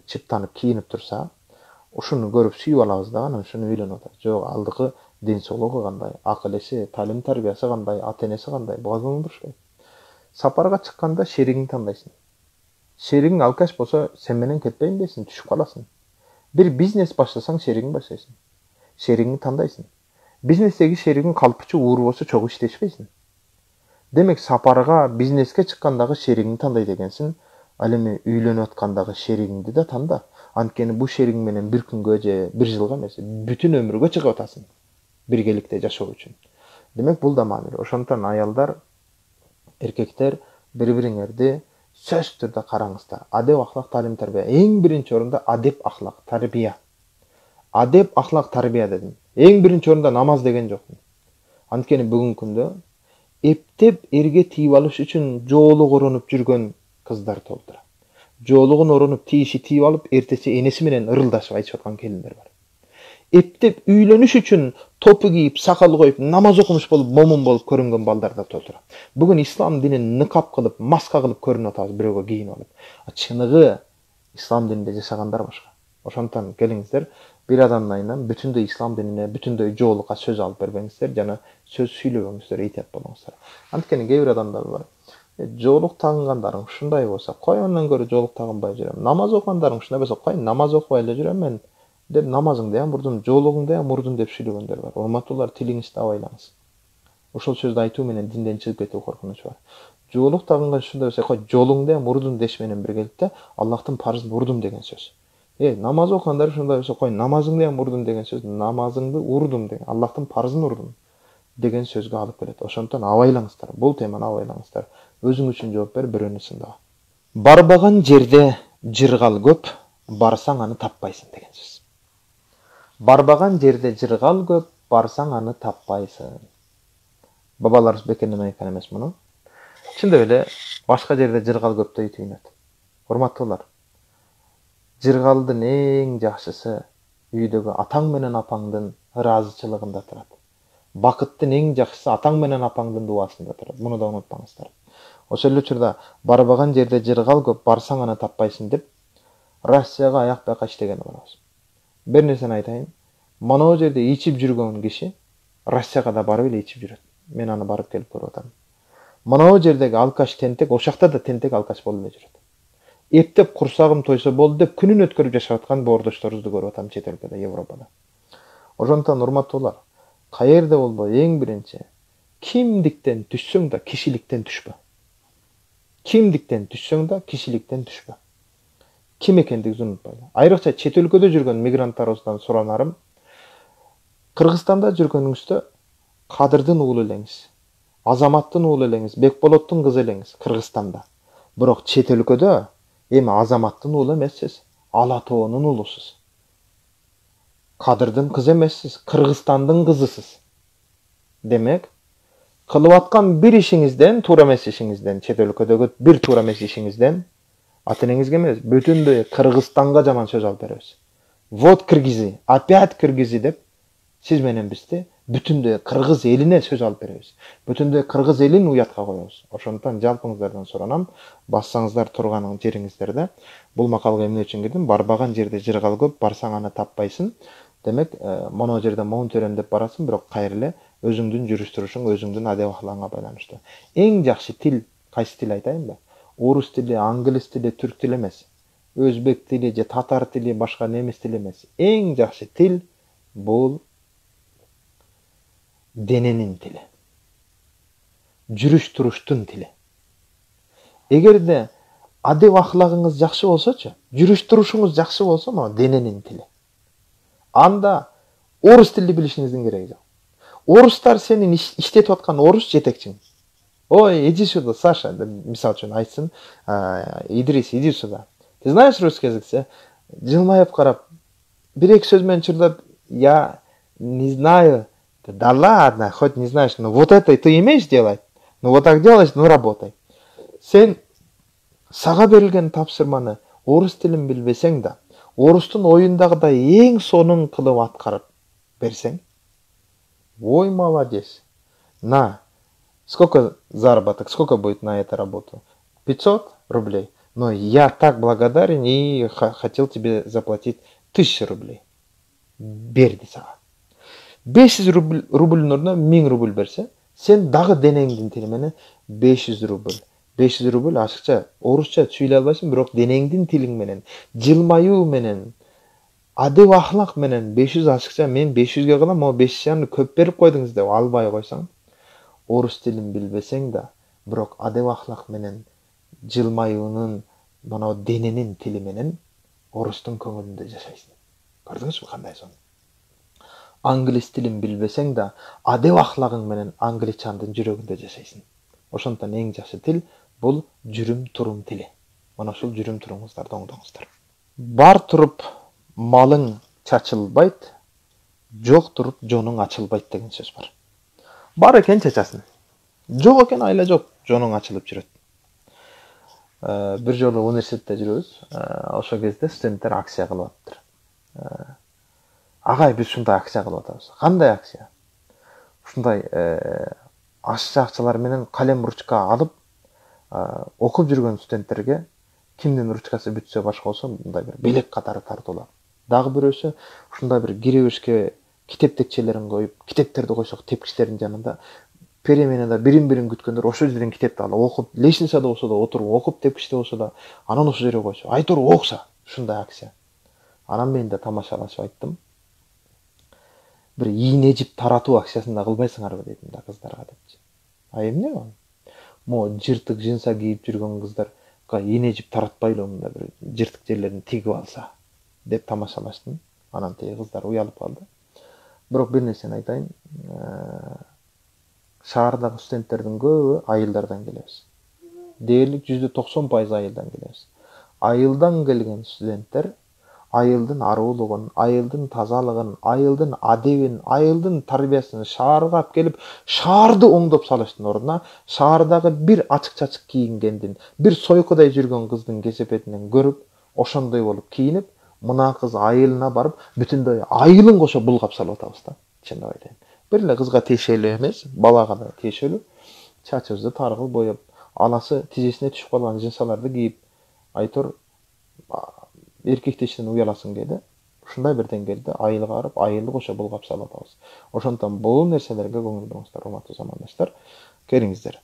чыптанып кийинип турса, ушуну көрүп сүйүп алабыз да, анан ушуну үйлөнүп атабыз. Жок, алдыкы ден соолугу кандай, акыл эси, талим тарбиясы кандай, ата энеси кандай, буга көңүл бурушпайт. Сапарга чыкканда шеригиңди тандайсың. Шеригиң алкаш болсо, сен менен кетпейм дейсиң, түшүп каласың. Бир бизнес баштасаң, шеригиң баштайсың. Шеригиңди тандайсың. Бизнестеги шеригиң калпчы ууру болсо, чогуу иштешпейсиң. Демек сапарга, бизнеске чыккандагы шеригиңди тандай дегенсиң, ал эми үйлөнүп аткандагы шеригиңди да танда. Анткени бул шеригиң менен бир күнгө же бир жылга эмес, бүтүн өмүргө чыгып атасың. Биргеликте жашоо үчүн. Демек бул да маанилүү. Ошондуктан аялдар, эркектер бири-бириңерди сөз түрдө караңыздар. Адеп, ахлак, талим, тарбия. Эң биринчи орунда адеп, ахлак, тарбия. Адеп, ахлак, тарбия дедим. Эң биринчи орунда намаз деген жок. Анткени бүгүнкү күндө эптеп эрге тийип алыш үчүн жоолук оронуп жүргөн кыздар толтура. Жоолугун оронуп тийиши тийип алып, эртеси энеси менен ырылдашып айтышып аткан келиндер бар. Эптеп үйлөнүш үчүн топу кийип, сакал коюп, намаз окумуш болуп, момун болуп көрүнгөн балдар да толтура. Бүгүн ислам динин никап кылып, маска кылып көрүнүп атабыз бирөөгө кийинип алып. Чыныгы ислам дининде жашагандар башка. Ошондуктан келиңиздер, бир адамдын айынан бүтүндөй ислам динине, бүтүндөй жоолукка сөз алып бербеңиздер, жана сөз сүйлөбөңүздөр, этият болуңуздар. Анткени кээ бир адамдар бар. Жоолук тагынгандарың ушундай болсо, кой андан көрө жоолук тагынбай жүрөм. Намаз окугандарың ушундай болсо, кой намаз окубай эле жүрөм мен деп намазыңды ям урдун, жоолугуңду ям урдун деп сүйлөгөндөр бар. Урматтуулар, тилиңизди абайлаңыз. Ошол сөздү айтуу менен динден чыгып кетүү коркунучу бар. Жоолук тагынган ушундай болсо, кой жолуңду ям урдун деш менен биргеликте Аллахтын парызын урдум деген сөз. Намаз окугандар ушундай болсо, кой намазыңды ям урдун деген сөз, намазыңды урдум деген, Аллахтын парызын урдум деген сөзгө алып келет. Ошондуктан абайлаңыздар. Бул теманы абайлаңыздар. Өзүң үчүн жооп бер, бирөөнү сындага. Барбаган жерде жыргал көп, барсаң аны таппайсың деген сөз. Барбаган жерде жыргал көп, барсаң аны таппайсың. Бабаларыбыз бекерден айткан эмес муну. Чындап эле башка жерде жыргал көптөй түйүнөт. Урматтуулар, жыргалдын эң жакшысы үйдөгү атаң менен апаңдын ыраазычылыгында турат. Бакыттын эң жакшысы атаң менен апаңдын дуасында турат. Муну да унутпаңыздар. Ошол эле учурда барбаган жерде жыргал көп, барсаң аны таппайсың деп Россияга аяк бака иштеген болобуз. Бир нерсени айтайын. Моноо жерде ичип жүргөн киши Россияга да барып эле ичип жүрөт. Мен аны барып келип көрүп атам. Моноо жердеги алкаш тентек, ошакта да тентек алкаш болуп эле жүрөт. Эптеп курсагым тойсо болду деп күнүн өткөрүп жашап аткан боордошторубузду көрүп атам чет өлкөдө, Европада. Ошондуктан урматтуулар, каерде болбой эң биринчи кимдиктен түшсөң да кишиликтен түшпө. Кимдиктен түшсөң да кишиликтен түшпө. Ким экендигиңди унутпайлы. Айрыкча чет өлкөдө жүргөн мигранттарыбыздан суранарым, Кыргызстанда жүргөнүңүздө Кадырдын уулу элеңиз, Азаматтын уулу элеңиз, Бекболоттун кызы элеңиз Кыргызстанда. Бирок чет өлкөдө эми Азаматтын уулу эмессиз, Ала тоонун уулусуз. Кадырдын кызы эмессиз, Кыргызстандын кызысыз. Демек, кылып аткан бир ишиңизден, туура эмес ишиңизден, чет өлкөдөгү бир туура эмес ишиңизден ата энеңизге эмес, бүтүндөй Кыргызстанга жаман сөз алып беребиз. Вот киргизи, опять киргизи деп сиз менен бизди бүтүндөй кыргыз элине сөз алып беребиз. Бүтүндөй кыргыз элин уятка коебуз. Ошондуктан жалпыңыздардан суранам, бассаңыздар турган жериңиздерде. Бул макалга эмне үчүн кирдим? Барбаган жерде жыргал көп, барсаң аны таппайсың. Демек, моно жерде моун төрөм деп барасың, бирок кайра эле өзүңдүн жүрүш турушуң, өзүңдүн адеп ахлагыңа байланыштуу. Эң жакшы тил кайсы тил айтайынбы? Орус тили, англис тили, түрк тили эмес. Өзбек тили же татар тили, башка немис тили эмес. Эң жакшы тил бул дененин тили. Жүрүш туруштун тили. Эгерде адеп ахлагыңыз жакшы болсочу, жүрүш турушуңуз жакшы болсо, могу дененин тили. Анда орус тилди билишиңиздин кереги жок. Орустар сенин иштетип аткан орус жетекчиң. Ой, иди сюда, Саша, мисал үчүн айтсын, Идрис, иди сюда. Ты знаешь русский язык? Жылмайып карап, бир-эки сөз менен чурдап, я не знаю. Да ладно, хоть не знаешь, но вот это ты умеешь делать? Ну вот так делаешь, ну работай. Сен сага берилген тапшырманы орус тилин билбесең да, орустун оюндагыдай эң сонун кылып аткарып берсең, ой, молодец. На, сколько заработок, сколько будет на эту работу? 500 рублей. Но я так благодарен и хотел тебе заплатить 1000 рублей. Берди сага. 500 рубльдин ордуна 1000 рубль берсе, сен дагы денеңдин тили менен 500 рубль. 500 рубль ашыкча, орусча сүйлөй албайсың, бирок денеңдин тилиң менен, жылмаюу менен, адеп ахлак менен 500 ашыкча, мен 500ге кылам, о 500 көп берип койдуңуз деп албай койсоң, орус тилин билбесең да, бирок адеп ахлак менен жылмаюунун, мына дененин тили менен орустун көңүлүндө жашайсың. Көрдүңүзбү кандай сон? Англис тилин билбесең да, адеп ахлагың менен англичандын жүрөгүндө жашайсың. Ошондон эң жакшы тил бул жүрүм турум тили. Мына ушул жүрүм туруңуздарды оңдоңуздар. Бар туруп малың чачылбайт, жок туруп жонуң ачылбайт деген сөз бар. Бар экен чачасың. Жок экен айла жок, жонуң ачылып жүрөт. Бир жолу университетте жүрөбүз. Ошол кезде студенттер акция кылып атыптыр. Агай, биз ушундай акция кылып атабыз. Кандай акция? Ушундай ашча акчалар менен калем ручка алып, окуп жүргөн студенттерге кимдин ручкасы бүтсө башка болсо, мындай бир белек катары тартуулап. Дагы бирөөсү ушундай бир киребешке китеп текчелерин коюп, китептерди койсок тепкичтердин жанында переменада бирин-бирин күткөндөр ошол жерден китепти алып окуп, лестницада болсо да отуруп окуп, тепкичте болсо да анан ошол жерге койсо, айтор окса, ушундай акция. Анан мен да тамашалашып айттым. Бир ийне жип таратуу акциясында кылбайсыңарбы дедим да кыздарга депчи. А эмне ал? Мо жыртык жинса кийип жүргөн кыздарга ийне жип таратпайлы, мында бир жыртык жерлерин тигип алса деп тамашалаштым. Анан тиги кыздар уялып калды. Бирок бир нерсени айтайын. Шаардагы студенттердин көбү айылдардан келебиз. Дээрлик 90% айылдан келебиз. Айылдан келген студенттер айылдын аруулугун, айылдын тазалыгын, айылдын адебин, айылдын тарбиясын шаарга алып келип, шаарды оңдоп салыштын ордуна, шаардагы бир ачык-чачык кийингендин, бир сойкудай жүргөн кыздын кесепетинен көрүп, ошондой болуп кийинип, мына кыз айылына барып, бүтүндөй айылын кошо булгап салып атабыз да. Чындап айтайын. Бир эле кызга тиешелүү эмес, балага да тиешелүү. Чачыбызды таргыл боеп, анасы тизесине түшүп калган жинсаларды кийип, айтор эркектештен уяласың келди. Ушундай бир деңгээлде айылга барып, айылды кошо булгап салып атабыз. Ошондон бул нерселерге көңүл буруңуздар, урматтуу замандаштар. Келиңиздер.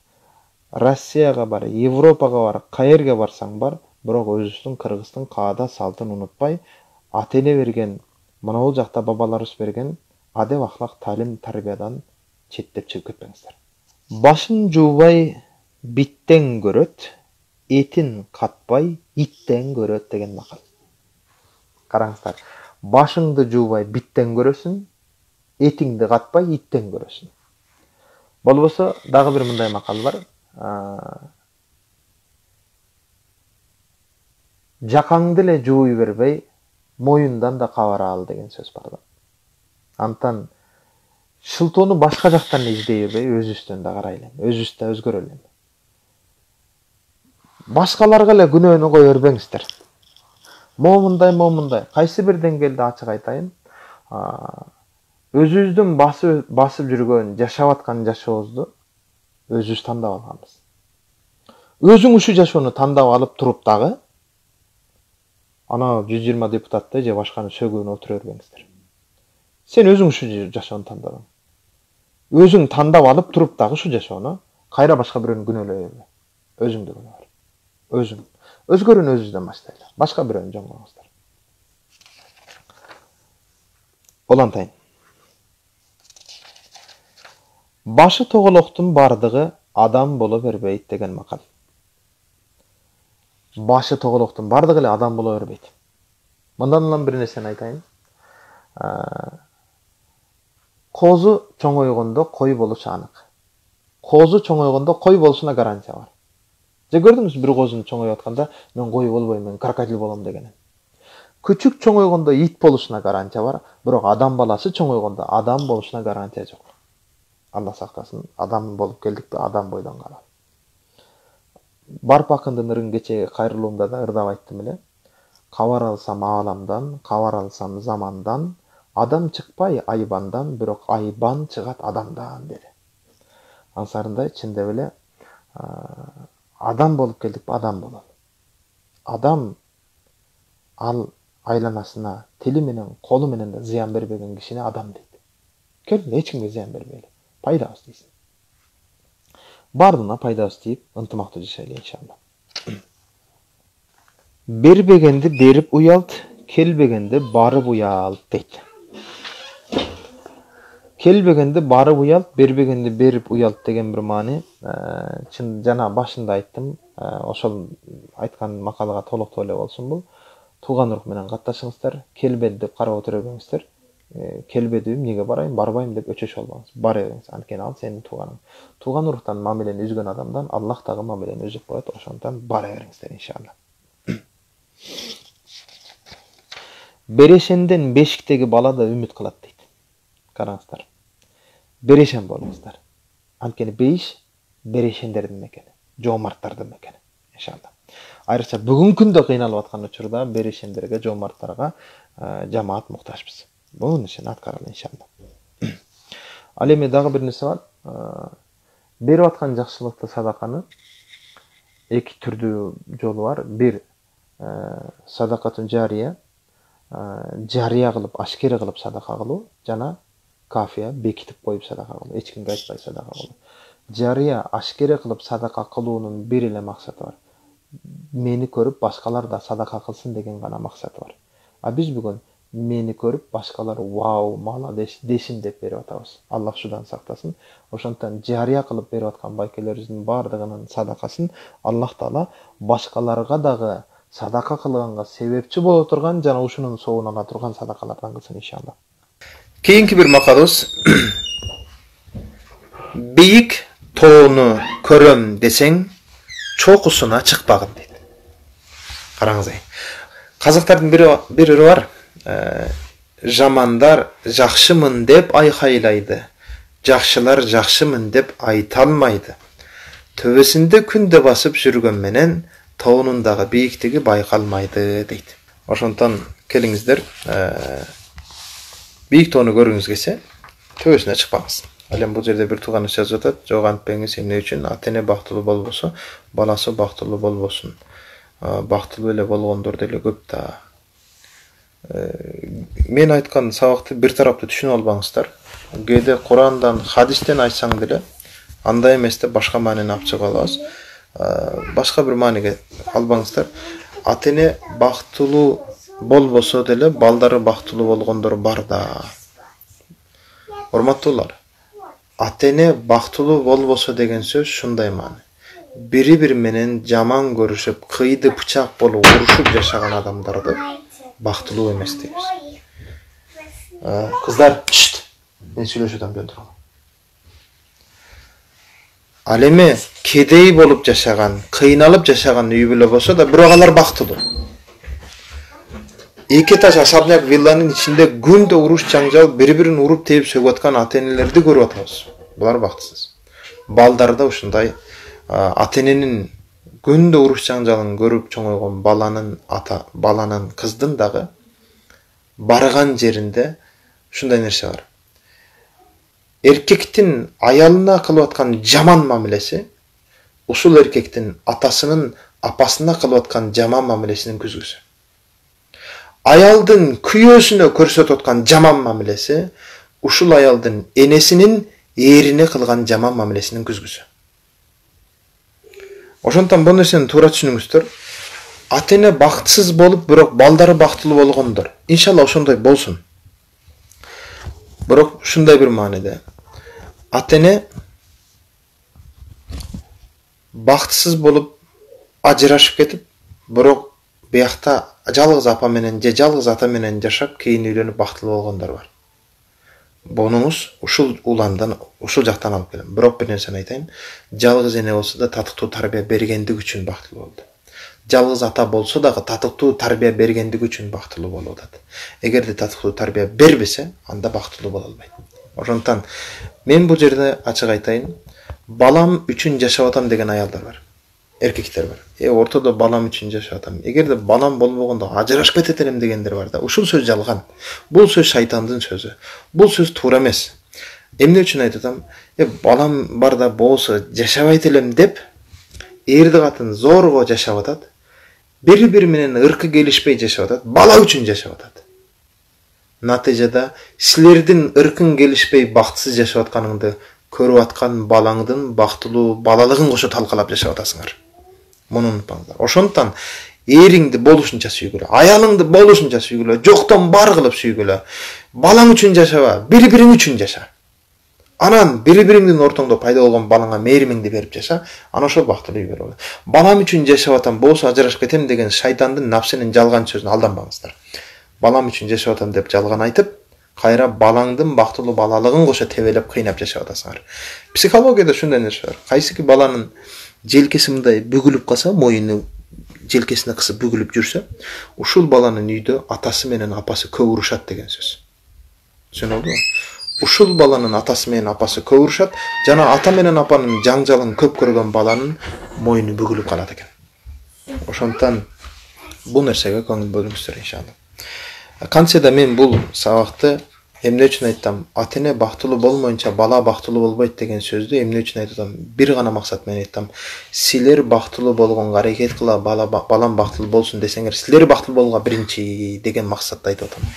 Россияга бар, Европага бар, каерге барсаң бар, бирок өзүбүздүн Кыргыздын каада салтын унутпай, ата-эне берген, мына жакта бабаларыбыз берген адеп ахлак талим тарбиядан четтеп чыгып кетпеңиздер. Башын жуубай биттен көрөт, этин катпай иттен көрөт деген макал. Караңыздар, башыңды жуубай биттен көрөсүң, этиңди катпай иттен көрөсүң. Болбосо дагы бир мындай макал бар. Жакаңды эле жууй бербей, моюндан да кабара ал деген сөз бар да. Антан шылтоону башка жактан издей бербей, өзүбүздөн да карайлы, өзүбүз да өзгөрөлү. Башкаларга эле күнөөнү кое бербеңиздер. Момундай, кайсы бир деңгээлде ачык айтайын, өзүбүздүн басып жүргөн, жашап аткан жашообузду өзүбүз тандап алганбыз. Өзүң ушул жашоону тандап алып туруп дагы ана 120 депутатты же башканы сөгүүнү отура бербеңиздер. Сен өзүң ушул жашоону тандадың. Өзүң тандап алып туруп дагы ушул жашоону кайра башка бирөөнү күнөөлөй бербе. Өзүңдү күнөө. Өзүң. Өзгөрүүнү өзүбүздөн баштайлы. Башка бирөөнү жөн коюңуздар. Олантайын. Башы тоголоктун бардыгы адам боло бербейт деген макал. башы тоголоктун бардыгы эле адам боло бербейт. Мындан улам бир нерсени айтайын. Козу чоңойгондо кой болушу анык. Козу чоңойгондо кой болушуна гарантия бар. Же көрдүңүз бир козунун чоңоюп атканда мен кой болбойм, мен крокодил болом дегенин. Күчүк чоңойгондо ит болушуна гарантия бар, бирок адам баласы чоңойгондо адам болушуна гарантия жок. Алла сактасын, адам болуп келдикпи, адам бойдон калат. Барп акындын ырын кечеги кайрылуумда да ырдап айттым эле. Кабар алсам ааламдан, кабар алсам замандан, адам чыкпай айбандан, бирок айбан чыгат адамдан деди. Ансарындай чындап эле адам болуп келдикпи, адам болот. Адам ал айланасына тили менен, колу менен да зыян бербеген кишине адам дейт. Кел, эч кимге зыян бербейли. Пайдабыз дейсиң. Бардына пайдабыз тийип, ынтымактуу жашайлы иншалла. Бербегенди берип уялт, келбегенди барып уялт дейт. Келбегенди барып уялт, бербегенди берип уялт деген бир маани. Чын жана башында айттым, ошол айткан макалага толуктуу эле болсун бул. Тууган рух менен катташыңыздар, келбеди деп карап отура бериңиздер. Келбедим, эмнеге барайын, барбайм деп өчөшө албаңыз. Бар бериңиз, анткени ал сенин тууганың. Тууган рухтан мамилени үзгөн адамдан Аллах дагы мамилени үзүп коет, ошондон бара бериңиздер иншалла. Берешенден бешиктеги бала да үмүт кылат дейт. Караңыздар. Берешен болуңуздар. Анткени бейиш берешендердин мекени, жоомарттардын мекени иншалла. Айрыкча бүгүнкү күндө кыйналып аткан учурда берешендерге, жоомарттарга жамаат муктажбыз. Бул нерсени аткаралы иншалла. Ал эми дагы бир нерсе бар. Берип аткан жакшылыкты, садаканы эки түрдүү жолу бар. Бир садакатын жария, жария кылып, ашкере кылып садака кылуу, жана кафия бекитип коюп садака кылуу, эч кимге айтпай садака кылуу. Жария ашкере кылып садака кылуунун бир эле максаты бар. Мени көрүп башкалар да садака кылсын деген гана максаты бар. А биз бүгүн мени көрүп башкалар вау, молодец десин деп берип атабыз. Аллах шудан сактасын. Ошондон жария кылып берип аткан байкелерибиздин бардыгынын садакасын Аллах Таала башкаларга дагы садака кылганга себепчи боло турган жана ушунун соогун ала турган садакалардан кылсын иншалла. Кийинки бир макалыбыз бийик тоону көрөм десең чокусуна чыкпагын дейт. Караңыз ай. Казактардын бири бар. Жамандар жакшымын деп айкайлайды. Жакшылар жакшымын деп айта алмайды. Төбөсүндө күндө басып жүргөн менен тоонундагы бийиктиги байкалмайды дейт. Ошондон келиңиздер, бийик тоону көргүңүз келсе, төбөсүнө чыкпаңыз. Ал эми бул жерде бир тууганыбыз жазып атат, жок антпеңиз, эмне үчүн ата-эне бактылуу болбосо, баласы бактылуу болбосун. Бактылуу эле болгондор деле көп да. Мен айткан сабакты бир тараптуу түшүнүп албаңыздар. Кээде Курандан, хадистен айтсаң деле, андай эмес деп башка маанини алып чыга алабыз. Башка бир мааниге албаңыздар. Ата-эне бактылуу болбосо деле балдары бактылуу болгондор бар да. Урматтуулар, ата-эне бактылуу болбосо деген сөз шундай маани. Бири-бири менен жаман көрүшүп, кыйды бычак болуп урушуп жашаган адамдарды бактылуу эмес дейбиз. Кыздар, мен сүйлөшүп атам, жөн туруңар. Ал эми кедей болуп жашаган, кыйналып жашаган үй бүлө болсо да бирок алар бактылуу. Эки этаж особняк вилланын ичинде күндө уруш жаңжал, бири-бирин уруп тееп сөгүп аткан ата-энелерди көрүп атабыз. Булар бактысыз. Балдар да ушундай ата-эненин күндө уруш жаңжалын көрүп чоңойгон баланын кыздын дагы барган жеринде ушундай нерсе бар. Эркектин аялына кылып аткан жаман мамилеси ушул эркектин атасынын апасына кылып аткан жаман мамилесинин күзгүсү. Аялдын күйөөсүнө көрсөтүп аткан жаман мамилеси ушул аялдын энесинин эрине кылган жаман мамилесинин күзгүсү. Ошондон бул нерсени туура түшүнүңүздөр. Ата-эне бактысыз болуп, бирок балдары бактылуу болгондор. Иншалла ошондой болсун. Бирок ушундай бир мааниде. Ата-эне бактысыз болуп, ажырашып кетип, Бирок биякта жалгыз апа менен же жалгыз ата менен жашап кийин үйлөнүп бактылуу болгондор бар. Бонуңуз ушул уландан, ушул жактан алып келем. Бирок бир нерсени айтайын. Жалгыз эне болсо да татыктуу тарбия бергендик үчүн бактылуу болду. Жалгыз ата болсо дагы татыктуу тарбия бергендик үчүн бактылуу болуп атат. Эгерде татыктуу тарбия бербесе, анда бактылуу боло албайт. Ошондуктан мен бул жерде ачык айтайын, балам үчүн жашап атам деген аялдар бар. Эркектер бар. Ортодо балам үчүн жашап атам. Эгерде балам болбогондо ажырашып кетет элем дегендер бар да. Ушул сөз жалган. Бул сөз шайтандын сөзү. Бул сөз туура эмес. Эмне үчүн айтып атам? Балам барда болсо жашабайт элем деп эрди катын зорго жашап атат. Бири-бири менен ыркы келишпей жашап атат. Бала үчүн жашап атат. Натыйжада силердин ыркың келишпей бактысыз жашап атканыңды көрүп аткан балаңдын бактылуу балалыгын кошо талкалап жашап атасыңар. Муну унутпаңыздар. Ошондуктан эриңди болушунча сүйгүлө, аялыңды болушунча сүйгүлө, жоктон бар кылып сүйгүлө. Балаң үчүн жашаба, бири-бириң үчүн жаша. Анан бири-бириңдин ортоңдо пайда болгон балаңа мээримиңди берип жаша, анан ошол бактылуу үй болот. Балам үчүн жашап атам, болсо ажырашып кетем деген шайтандын, напсынын жалган сөзүнө алданбаңыздар. Балам үчүн жашап атам деп жалган айтып, кайра балаңдын бактылуу балалыгын кошо тебелеп кыйнап жашап атасыңар. Психологияда ушундай нерсе бар. Кайсыки баланын желкеси мындай бүгүлүп калса, моюну желкесине кысып бүгүлүп жүрсө, ушул баланын үйдө атасы менен апасы көп урушат деген сөз. Түшүнөбү? Ушул баланын атасы менен апасы көп урушат, жана ата менен апанын жаңжалын көп көргөн баланын моюну бүгүлүп калат экен. Ошондуктан бул нерсеге көңүл бөлүңүздөр иншалла. Кантсе да мен бул сабакты эмне үчүн айтам? Ата-эне бактылуу болмоюнча бала бактылуу болбойт деген сөздү эмне үчүн айтып атам? Бир гана максат менен айтам. Силер бактылуу болгонго аракет кыла, балам бактылуу болсун десеңер, силер бактылуу болгонго биринчи деген максатты айтып атам.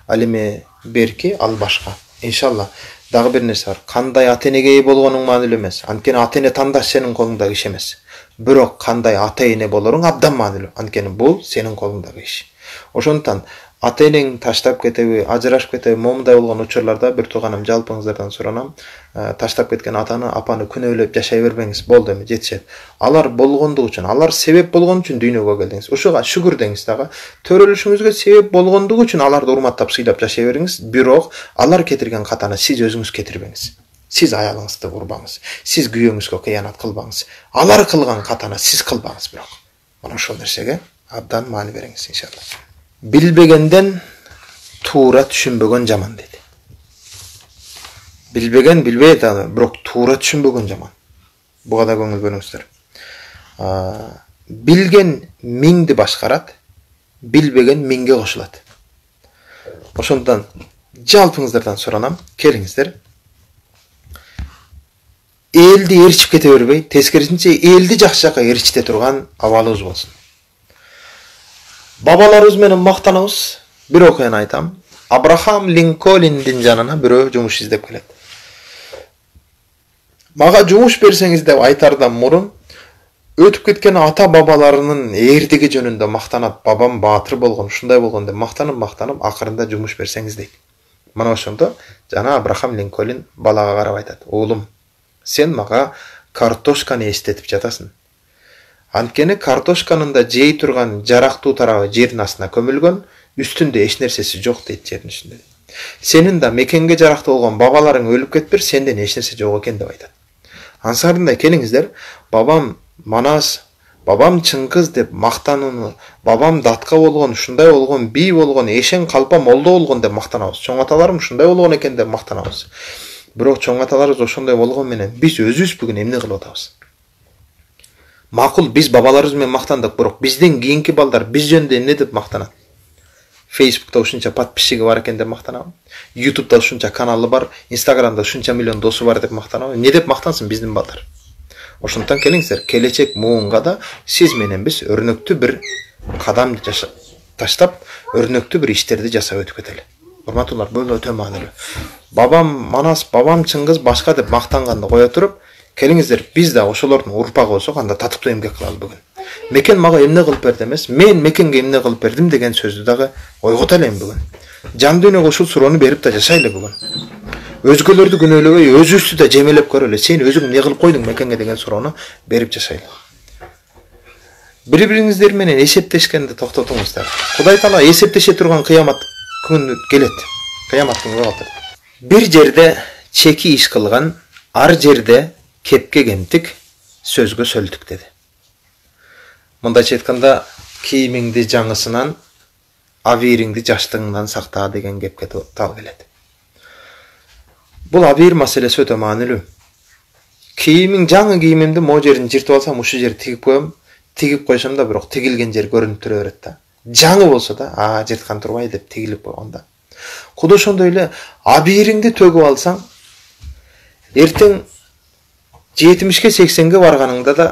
Ал эме берки, ал башка. Иншалла. Дагы бир нерсе бар. Кандай ата-энеге ээ болгонуң маанилүү эмес. Анткени ата-эне тандаш сенин колуңдагы иш эмес. Бирок кандай ата-эне болоруң абдан маанилүү. Анткени бул сенин колуңдагы иш. Ошондуктан ата-энең таштап кетеби, ажырашып кетеби, момундай болгон учурларда бир тууганым жалпыңыздардан суранам. Таштап кеткен атаны, апаны күнөөлөп жашай бербеңиз. Болду эми, жетишет. Алар болгондугу үчүн, алар себеп болгон үчүн дүйнөгө келдиңиз. Ушуга шүгүр деңиз дагы. Төрөлүшүңүзгө себеп болгондугу үчүн аларды урматтап, сыйлап жашай бериңиз. Бирок алар кетирген катаны сиз өзүңүз кетирбеңиз. Сиз аялыңызды урбаңыз. Сиз күйөөңүзгө кыянат кылбаңыз. Алар кылган катаны сиз кылбаңыз бирок. Мына ошол нерсеге абдан маани бериңиз иншалла. Билбегенден туура түшүнбөгөн жаман дейт. Билбеген билбейт аны, бирок туура түшүнбөгөн жаман. Буга да көңүл бөлүңүздөр. Билген миңди башкарат, билбеген миңге кошулат. Ошондон жалпыңыздардан суранам, келиңиздер. Элди ээрчип кете бербей, тескерисинче элди жакшы жакка ээрчите турган абалыбыз болсун. Бабаларыбыз менен мактанабыз. Бир окуяны айтам. Абрахам Линкольндин жанына бирөө жумуш издеп келет. Мага жумуш берсеңиз деп айтардан мурун өтүп кеткен ата бабаларынын эрдиги жөнүндө мактанат. Бабам баатыр болгон, ушундай болгон деп мактанып, акырында жумуш берсеңиз дейт. Мына ошондо жана Абрахам Линкольн балага карап айтат: "Уулум, сен мага картошканы эстетип жатасың. Анткени картошканын да жей турган жарактуу тарабы жердин астына көмүлгөн, үстүндө эч нерсеси жок" дейт, жердин үстүндө. "Сенин да мекенге жарактуу болгон бабаларың өлүп кетипир, сенден эч нерсе жок экен" деп айтат. Ансарында келиңиздер, бабам Манас, бабам Чыңгыз деп мактанууну, бабам датка болгон, ушундай болгон, бий болгон, эшен калпа молдо болгон деп мактанабыз. Чоң аталарым ушундай болгон экен деп мактанабыз. Бирок чоң аталарыбыз ошондой болгон менен биз өзүбүз бүгүн эмне кылып атабыз? Макул, биз бабаларыбыз менен мактандык, бирок бизден кийинки балдар биз жөнүндө эмне деп мактанат? Facebook'та ушунча подписчиги бар экен деп мактанабы? YouTube'да ушунча каналы бар, Instagram'да ушунча миллион досу бар деп мактанабы? Эмне деп мактансын биздин балдар? Ошондон келиңиздер, келечек муунга да сиз менен биз өрнөктүү бир кадам таштап, өрнөктүү бир иштерди жасап өтүп кетели. Урматтуулар, бул өтө маанилүү. Бабам Манас, бабам Чыңгыз башка деп мактанганды кое туруп, келиңиздер, биз да ошолордун урпагы болсок, анда татыктуу эмгек кылалы бүгүн. Мекен мага эмне кылып берди эмес, мен мекенге эмне кылып бердим деген сөздү дагы ойгота элем бүгүн. Жан дүйнөгө ушул суроону берип да жашайлы бүгүн. Өзгөлөрдү күнөөлөбөй, өзүбүздү да жемелеп көрөлү. Сен өзүң эмне кылып койдуң мекенге деген суроону берип жашайлы. Бири-бириңиздер менен эсептешкенди токтотуңуздар. Кудай Таала эсептеше турган кыямат күнү келет. Кыямат күнү калтыр. Bir жерде чеки иш кылган, ар жерде кепке кемтик, сөзгө сөлтүк деди. Мындайча айтканда, кийимиңди жаңысынан, абийириңди жаштыгыңдан сакта деген кепке тал келет. Бул абийир маселеси өтө маанилүү. Кийимиң жаңы кийимимди могу жерин жыртып алсам, ушул жерди тигип коем, тигип койсом да, бирок тигилген жер көрүнүп тура берет да. Жаңы болсо да, жырткан турбай деп тигилип койгонда. Кудай ошондой эле абийириңди төгүп алсаң, эртең 70-ке 80-ге барганыңда да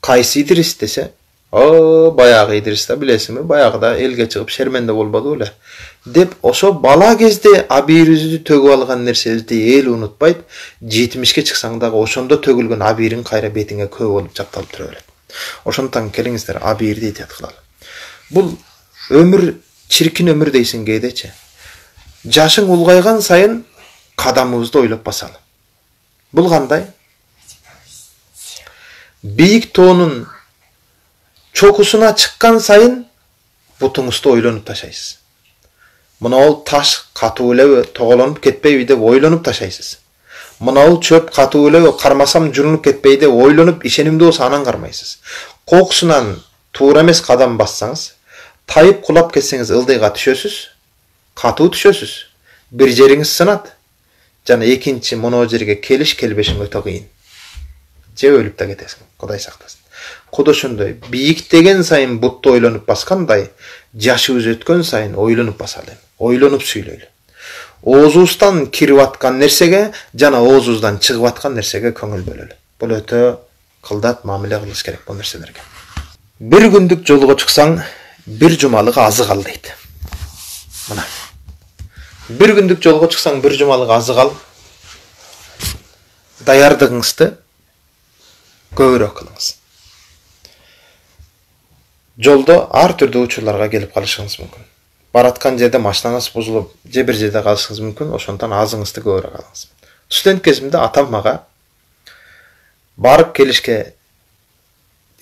кайсы Идрис десе, баягы Идрис да билесиңби, баягыда элге чыгып шерменде болбоду эле деп, ошо бала кезде абийирибизди төгүп алган нерсебизди эл унутпайт, 70-ке чыксаң дагы ошондо төгүлгөн абийириң кайра бетиңе көп болуп жапталып тура берет. Ошондон келиңиздер, абийирди этият кылалы. Бул өмүр чиркин өмүр дейсиң кээдечи. Жашың улгайган сайын кадамыбызды ойлоп басалы. Бул кандай? Бийик тоонун чокусуна чыккан сайын бутуңузду ойлонуп ташайсыз. Мынау таш катуу элеби, тоголонуп кетпейби деп ойлонуп ташайсыз. Мынау чөп катуу элеби, кармасам журунуп кетпейби деп ойлонуп, ишенимдүү болсо анан кармайсыз. Кокусунан туура эмес кадам бассаңыз, тайып кулап кетсеңиз ылдыйга түшөсүз, катуу түшөсүз. Бир жериңиз сынат, жана экинчи моноо жерге келбешиң өтө кыйын. Же өлүп да кетесиң, Кудай сактасын. Кудай ошондой бийиктеген сайын бутты ойлонуп баскандай, жашыбыз өткөн сайын ойлонуп басалы, ойлонуп сүйлөйлү. Оозубуздан кирип аткан нерсеге жана оозубуздан чыгып аткан нерсеге көңүл бөлөлү. Бул өтө кылдат мамиле кылыш керек бул нерселерге. Бир күндүк жолго чыксаң, бир жумалык азык ал дейт. Мына. Бир күндүк жолго чыксаң, бир жумалык азык ал. Даярдыгыңызды көбүрөөк кылыңыз. Жолдо ар түрдүү учурларга келип калышыңыз мүмкүн. Бараткан жерде машинаңыз бузулуп, же бир жерде калышыңыз мүмкүн, ошондон азыңызды көбүрөөк алыңыз. Студент кезимде атам мага барып келишке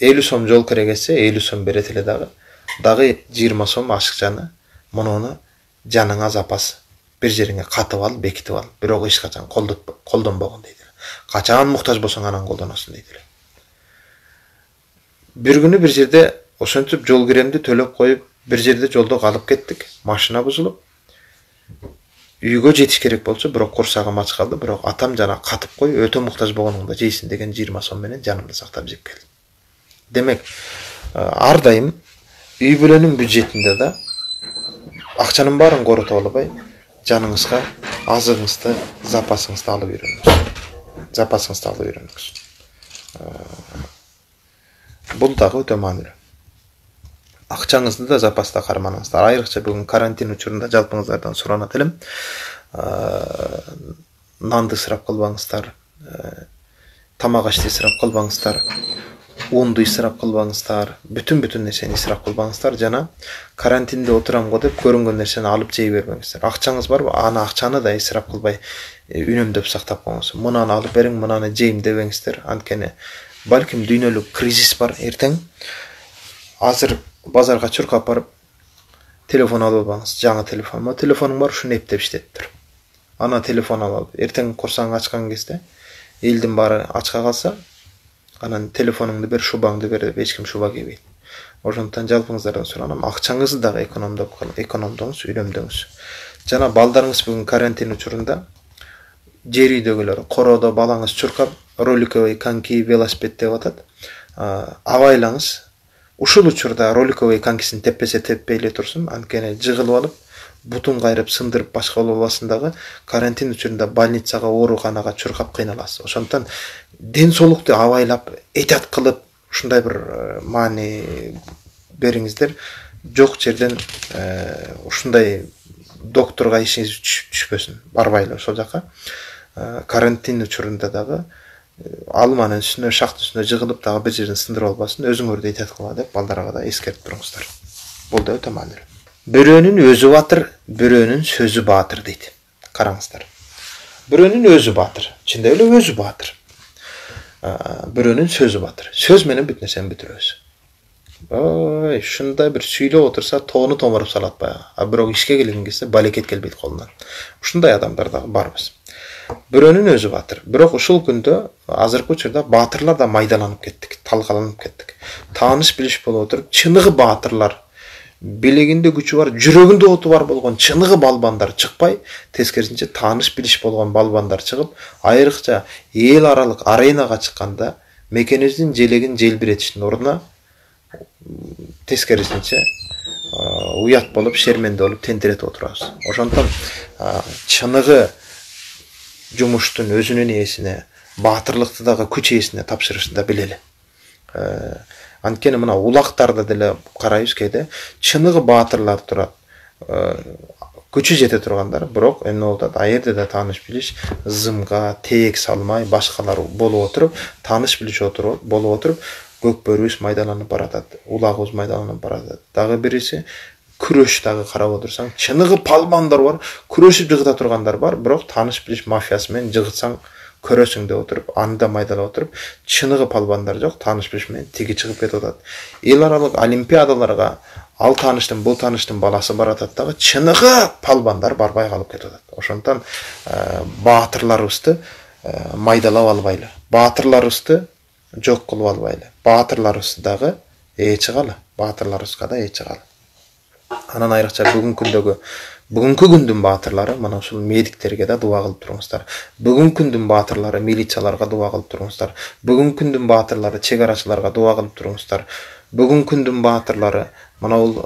50 сом жол керек эсе, 50 сом берет эле дагы 20 сом ашыкчаны, муну жаныңа запас бир жериңе катып ал, бекитип ал, бирок эч качан колдонбогон дейт. Качан муктаж болсоң анан колдоносуң дейт. Бир күнү бир жерде ошентип жол киремди төлөп коюп, бир жерде жолдо калып кеттик, машина бузулуп. Үйгө жетиш керек болчу, бирок курсагым ач калды, бирок атам жана катып кой, өтө муктаж болгонуңда жейсиң деген 20 сом менен жанымды сактап жеп келди. Демек, ар дайым үй бүлөнүн бюджетинде да акчанын баарын корото албай, жаныңызга азыгыңызды, запасыңызды алып үйрөнүңүз. Бул дагы өтө маанилүү. Акчаңызды да запаста карманыңыздар. Айрыкча бүгүн карантин учурунда жалпыңыздардан суранат элем. Нанды ысырап кылбаңыздар, тамак ашты ысырап кылбаңыздар, унду ысырап кылбаңыздар, бүтүн нерсени ысырап кылбаңыздар жана карантинде отурам го деп көрүнгөн нерсени алып жей бербеңиздер. Акчаңыз барбы? Аны акчаны да ысырап кылбай үнөмдөп сактап коюңуз. Мынаны алып бериң, мынаны жейм дебеңиздер. Анткени балким дүйнөлүк кризис бар эртең. Азыр базарга чуркап барып телефон алып албаңыз, жаңы телефон. Телефонуң бар, ушуну эптеп иштетип тур. Ана телефон алып, эртең курсаң ачкан кезде элдин баары ачка калса, анан телефонуңду бер, шубаңды бер деп эч ким шуба кийбейт. Ошондон жалпыңыздардан суранам, акчаңызды дагы экономдоңуз, үйрөмдөңүз. Жана балдарыңыз бүгүн карантин учурунда жер үйдөгүлөр короодо балаңыз чуркап, роликовый коньки, велосипед деп атат. Абайлаңыз. Ушул учурда роликовый конькисин теппесе теппей эле турсун, анткени жыгылып алып, бутун кайрып, сындырып башка болбасын дагы карантин учурунда больницага, ооруканага чуркап кыйналасыз. Ошондон ден соолукту абайлап, этят кылып, ушундай бир маани бериңиздер. Жок жерден ушундай докторго ишиңиз түшпөсүн. Барбайлы ошол жака. Карантин учурунда дагы алманын үстүнө, шактын үстүнө жыгылып дагы бир жерден сындырып албасын, өзүңөрдү этят кыла деп балдарга да эскертип туруңуздар. Бул да өтө маанилүү. Бирөөнүн өзү батыр, бирөөнүн сөзү баатыр дейт. Караңыздар. Бирөөнүн өзү баатыр, чындап эле өзү баатыр. бирөөнүн сөзү батыр. Сөз менен бүт нерсени бүтүрөбүз. Ой, ушундай бир сүйлөп отурса тоону томоруп салат баягы. А бирок ишке келген кезде балекет келбейт колунан. Ушундай адамдар да барбыз. Бирөөнүн өзү батыр. Бирок ушул күндө азыркы учурда баатырлар да майдаланып кеттик, талкаланып кеттик. Тааныш билиш болуп отуруп, чыныгы баатырлар, билегинде күчү бар, жүрөгүндө оту бар болгон чыныгы балбандар чыкпай, тескерисинче тааныш билиш болгон балбандар чыгып, айрыкча эл аралык аренага чыкканда мекенибиздин желегин желбиретиштин ордуна тескерисинче уят болуп, шерменде болуп тентиретип отурабыз. Ошондон чыныгы жумуштун өзүнүн ээсине, баатырлыкты дагы күч ээсине тапшырышты да билели. Анткени мына улактарда деле карайбыз кээде чыныгы баатырлар турат. Күчү жете тургандар, бирок эмне болуп атат? Аерде да тааныш билиш зымга, теек салмай, башкалар болуп отуруп, тааныш билиш болуп отуруп, көкбөрүбүз майдаланып баратат, улагыбыз майдаланып баратат. Дагы бириси күрөш дагы карап отурсаң, чыныгы палбандар бар, күрөшүп жыгыта тургандар бар, бирок тааныш билиш мафиясы менен жыгытсаң көрөсүң деп отуруп, анда майдалап отуруп, чыныгы палбандар жок, тааныш билиш менен тиги чыгып кетип атат. Эл аралык олимпиадаларга ал тааныштын, бул тааныштын баласы баратат дагы, чыныгы палбандар барбай калып кетип атат. Ошондон баатырларыбызды майдалап албайлы, баатырларыбызды жок кылып албайлы. Баатырларыбызды дагы ээ чыгалы, баатырларыбызга да ээ чыгалы. Анан айрыкча бүгүнкү күндүн баатырлары мына ушул медиктерге да дуа кылып туруңуздар. Бүгүнкү күндүн баатырлары милицияларга дуа кылып туруңуздар. Бүгүнкү күндүн баатырлары чек арачыларга дуа кылып туруңуздар. Бүгүнкү күндүн баатырлары мына бул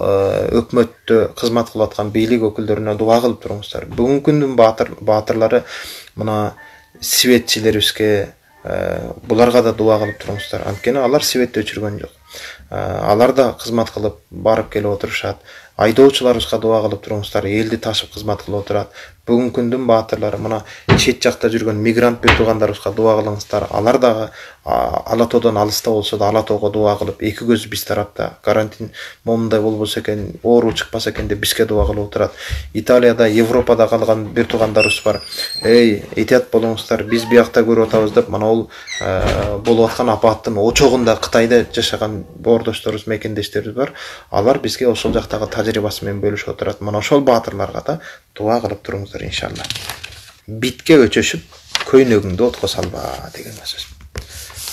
өкмөттө кызмат кылып аткан бийлик өкүлдөрүнө дуа кылып туруңуздар. Бүгүнкү күндүн баатырлары мына светчилерибизге, буларга да дуа кылып туруңуздар. Анткени алар светти өчүргөн жок. Алар да кызмат кылып барып келип отурушат. Айдоочуларыбызга дуа кылып туруңуздар, элди ташып кызмат кылып отурат. Бүгүнкү күндүн баатырлары мына чет жакта жүргөн мигрант бир туугандарыбызга дуа кылыңыздар. Алар дагы ала тоодон алыста болсо да ала тоого дуа кылып, эки көзү биз тарапта. Карантин момундай болбосо экен, оору чыкпаса экен деп бизге дуа кылып отурат. Италияда, Европада калган бир туугандарыбыз бар. Эй, этият болуңуздар, биз биякта көрүп атабыз деп, мына бул болуп аткан апаттын очогунда Кытайда жашаган боордошторубуз, мекендештерибиз бар. Алар бизге ошол жактагы тажрыйбасы менен бөлүшүп отурат. Мына ошол баатырларга да дуа кылып туруңуздар иншалла. Битке өчөшүп, көйнөгүңдү отко салба деген сөз.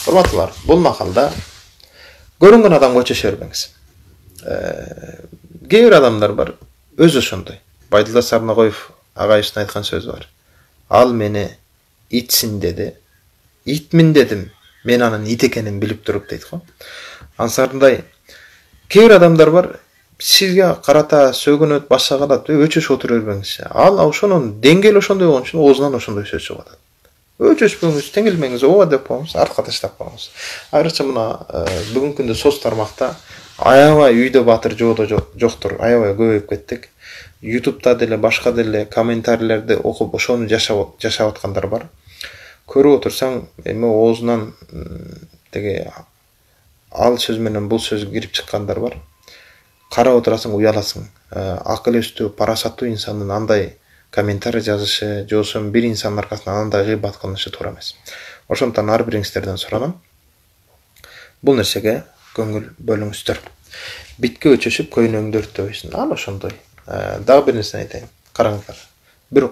Урматтуулар, бул макалда көрүнгөн адамга өчөшө бербеңиз. Кээ бир адамдар бар, өзү ошондой. Байдулла Сарнагоев агайыбыздын айткан сөзү бар. Ал мени итсин деди, итмин дедим, мен анын ит экенин билип туруп дейт го. Ансарындай кээ бир адамдар бар, сизге карата сөгүнөт, башка кылат, өчөшүп отура бербеңиз. Ал ошонун деңгээли ошондой болгон үчүн оозунан ошондой сөз чыгып атат. Өчөшпөңүз, теңилмеңиз, ооба деп коюңуз, артка таштап коюңуз. Айрыкча мына бүгүнкү күндө соц тармакта аябай үйдө батыр, жоодо жоктур, аябай көбөйүп кеттик. YouTube'да деле, башка деле комментарийлерди окуп ошону жашап аткандар бар. Көрүп отурсаң, эми оозунан деге ал сөз менен бул сөз кирип чыккандар бар. Карап отурасың, уяласың. Акыл эстүү, парасаттуу инсандын андай комментарий жазышы, же болбосо бир инсандын аркасынан андай гыйбат кылынышы туура эмес. Ошондон ар бириңиздерден суранам, бул нерсеге көңүл бөлүңүздөр. Битке өчөшүп, көйнөгүңдү өрттөбөйсүң. Ал ошондой. Дагы бир нерсени айтайын. Караңыздар. Бир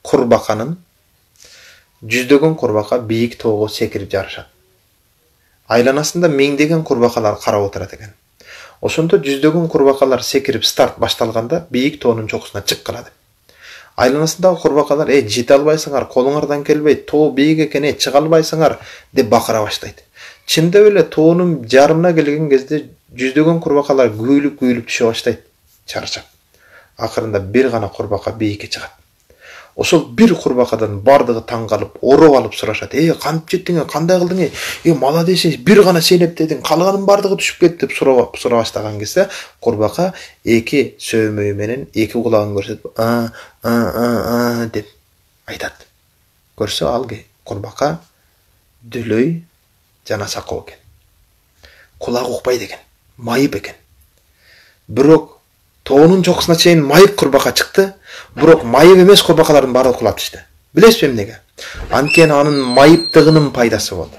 курбаканын жүздөгөн курбака бийик тоого секирип жарышат. Айланасында миңдеген курбакалар карап отурат экен. Ошондо жүздөгөн курбакалар секирип старт башталганда бийик тоонун чокусуна чык калат. Айланасындагы курбакалар, жете албайсыңар, колуңардан келбейт, тоо бийик экен, чыга албайсыңар деп бакыра баштайт. Чындап эле тоонун жарымына келген кезде жүздөгөн курбакалар күйүлүп түшө баштайт, чарчап. Акырында бир гана курбака бийикке чыгат. Ошол бир курбакадан бардыгы таң калып, ороп алып сурашат. Кантип жеттиң, кандай кылдың? Молодец, бир гана сенептедиң, калганын бардыгы түшүп кетти деп сурап баштаган кезде, курбака эки сөөмөйү менен эки кулагын көрсөтүп, деп айтат. Көрсө ал курбака дүлөй жана сакоо экен. Кулагы укпайт экен, майып экен. Бирок тоонун чокусуна чейин майып курбака чыкты, бирок майып эмес курбакалардын баары кулап түштү. Билесизби эмнеге? Анткени анын майыптыгынын пайдасы болду.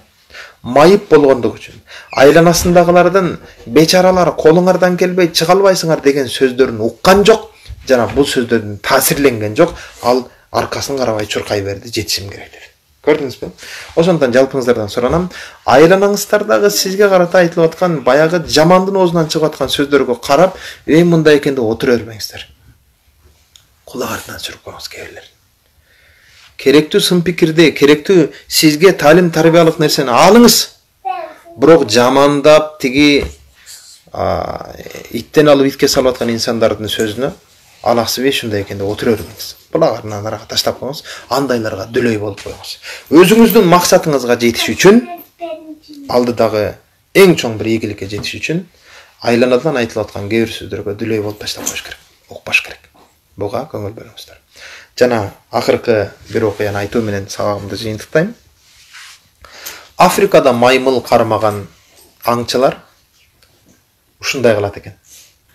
майып болгондугу үчүн, айланасындагылардын бечаралар колуңардан келбей чыга албайсыңар деген сөздөрүн уккан жок жана бул сөздөрдөн таасирленген жок, ал аркасын карабай чуркай берди, жетишим керек деди. Көрдүңүзбү? Ошондон жалпыңыздардан суранам, айланаңыздардагы сизге карата айтылып аткан баягы жамандын оозунан чыгып аткан сөздөргө карап, мындай экен деп отура бермеңиздер. Кулак артынан сүрүп коюңуз кээ бирлерин. Керектүү сын пикирди, керектүү сизге талим тарбиялык нерсени алыңыз. Бирок жамандап тиги иттен алып итке салып аткан инсандардын сөзүнө алаксыбы ушундай экен деп отура бермеңиз. Булагарынан арага таштап коюңуз, андайларга дүлөй болуп коюңуз. Өзүңүздүн максатыңызга жетиш үчүн, алдыдагы эң чоң бир ийгиликке жетиш үчүн айланадан айтылып аткан кээ бир сөздөргө дүлөй болуп таштап коюш керек, укпаш керек. Буга көңүл бөлүңүздөр. Жана акыркы бир окуяны айтуу менен сабагымды жыйынтыктайм. Африкада маймыл кармаган аңчылар ушундай кылат экен.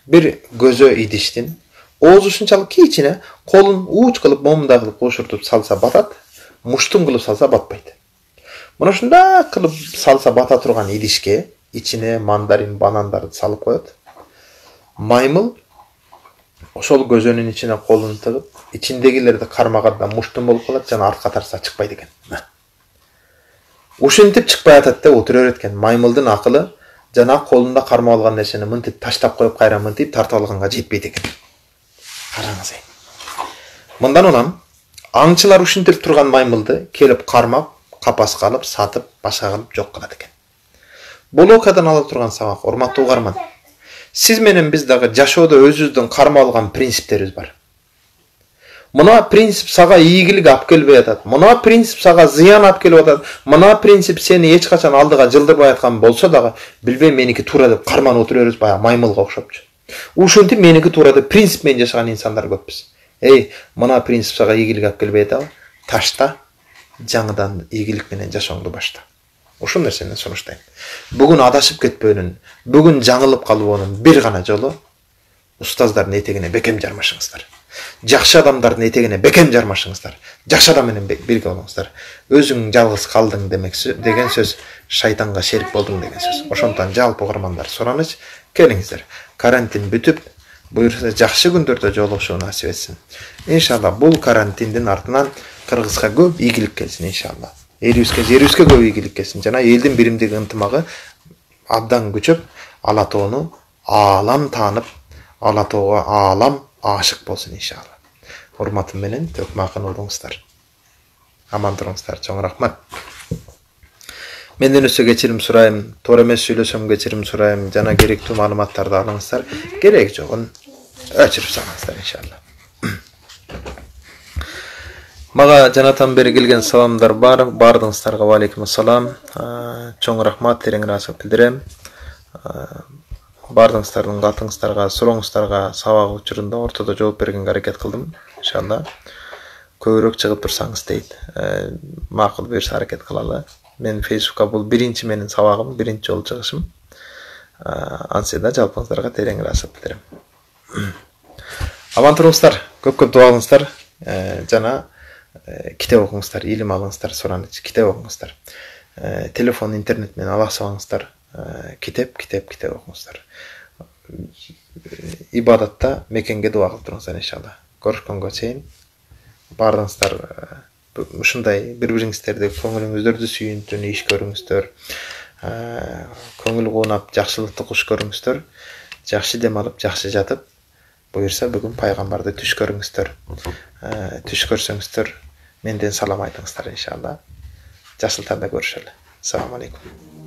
Бир көзө идиштин оозу ушунчалык кичине, колун ууч кылып, момундай кылып кушуртуп салса батат, муштум кылып салса батпайт. Мына ушундай кылып салса бата турган идишке ичине мандарин, банандарды салып коет. Маймыл ошол көзөнүн ичине колун тыгып, ичиндегилерди кармаганда муштум болуп калат жана артка тарса чыкпайт экен. Ушинтип чыкпай атат деп отура берет экен. Маймылдын акылы жана колунда кармап алган нерсени мынтип таштап коюп, кайра мынтип тартып алганга жетпейт экен. Караңыз. Мындан улам аңчылар ушинтип турган маймылды келип кармап, капаска алып, сатып, башка кылып жок кылат экен. Бул окуядан ала турган сабак, урматтуу угарман. Сиз менен биз дагы жашоодо өзүбүздүн кармап алган принциптерибиз бар. Мына принцип сага ийгилик алып келбей атат. Мына принцип сага зыян алып келип атат. Мына принцип сени эч качан алдыга жылдырбай аткан болсо дагы, билбейм, меники туура деп карманып отура беребиз, баягы маймылга окшопчу. Ушинтип меники туура деп принцип менен жашаган инсандар көппүз. Мына принцип сага ийгилик алып келбей атабы? Ташта, жаңыдан ийгилик менен жашооңду башта. Ушул нерсени сунуштайм. Бүгүн адашып кетпөөнүн, бүгүн жаңылып калбоонун бир гана жолу устаздардын этегине бекем жармашыңыздар. Жакшы адамдардын этегине бекем жармашыңыздар. Жакшы адам менен бирге болуңуздар. Өзүң жалгыз калдың деген сөз шайтанга шерик болдуң деген сөз. Ошондон жалпы угармандар сураныч, келиңиздер. Карантин бүтүп, буюрса жакшы күндөрдө жолугушуу насип этсин. Иншалла бул карантиндин артынан Кыргызга көп ийгилик келсин иншалла. Жерибизге көп ийгилик келсин. Жана элдин биримдиги ынтымагы абдан күчөп, Ала тоону аалам таанып, Ала тоого аалам ашык болсун иншалла. Урматым менен төкмакын уруңуздар. Аман туруңуздар. Чоң рахмат. Менден өсө кечирим сурайм, туура эмес сүйлөсөм кечирим сурайм, жана керектүү маалыматтарды алыңыздар. Керек жогун өчүрүп салыңыздар иншалла. Мага жанатан бери келген саламдар бар. Бардыгыңыздарга ва алейкум ассалам. Чоң рахмат, терең ыраазычылык билдирем. Бардыгыңыздардын катыңыздарга, сурооңуздарга сабак учурунда ортодо жооп бергенге аракет кылдым. Иншалла көбүрөөк чыгып турсаңыз дейт. Макул буюрса аракет кылалы. Мен Facebook'ка бул биринчи менин сабагым, биринчи жолу чыгышым. Ансыда жалпыңыздарга терең ыраазычылык билдирем. Аман туруңуздар, көп дуа кылыңыздар, жана китеп окуңуздар, илим алыңыздар, сураныч, китеп окуңуздар. Телефон, интернет менен алаксабаңыздар, китеп окуңуздар. Ибадатта мекенге дуа кылып туруңуздар иншалла. Көрүшкөнгө чейин бардыгыңыздар ушундай бири-бириңиздерди көңүлүңүздөрдү сүйүнтүн иш көрүңүздөр. Көңүл куунап, жакшылыкты куш көрүңүздөр. Жакшы дем алып, жакшы жатып, буюрса бүгүн пайгамбарды түш көрүңүздөр. Түш көрсөңүздөр, менден салам айтыңыздар иншалла. Жакшылыкта көрүшөлү. Assalamu alaikum.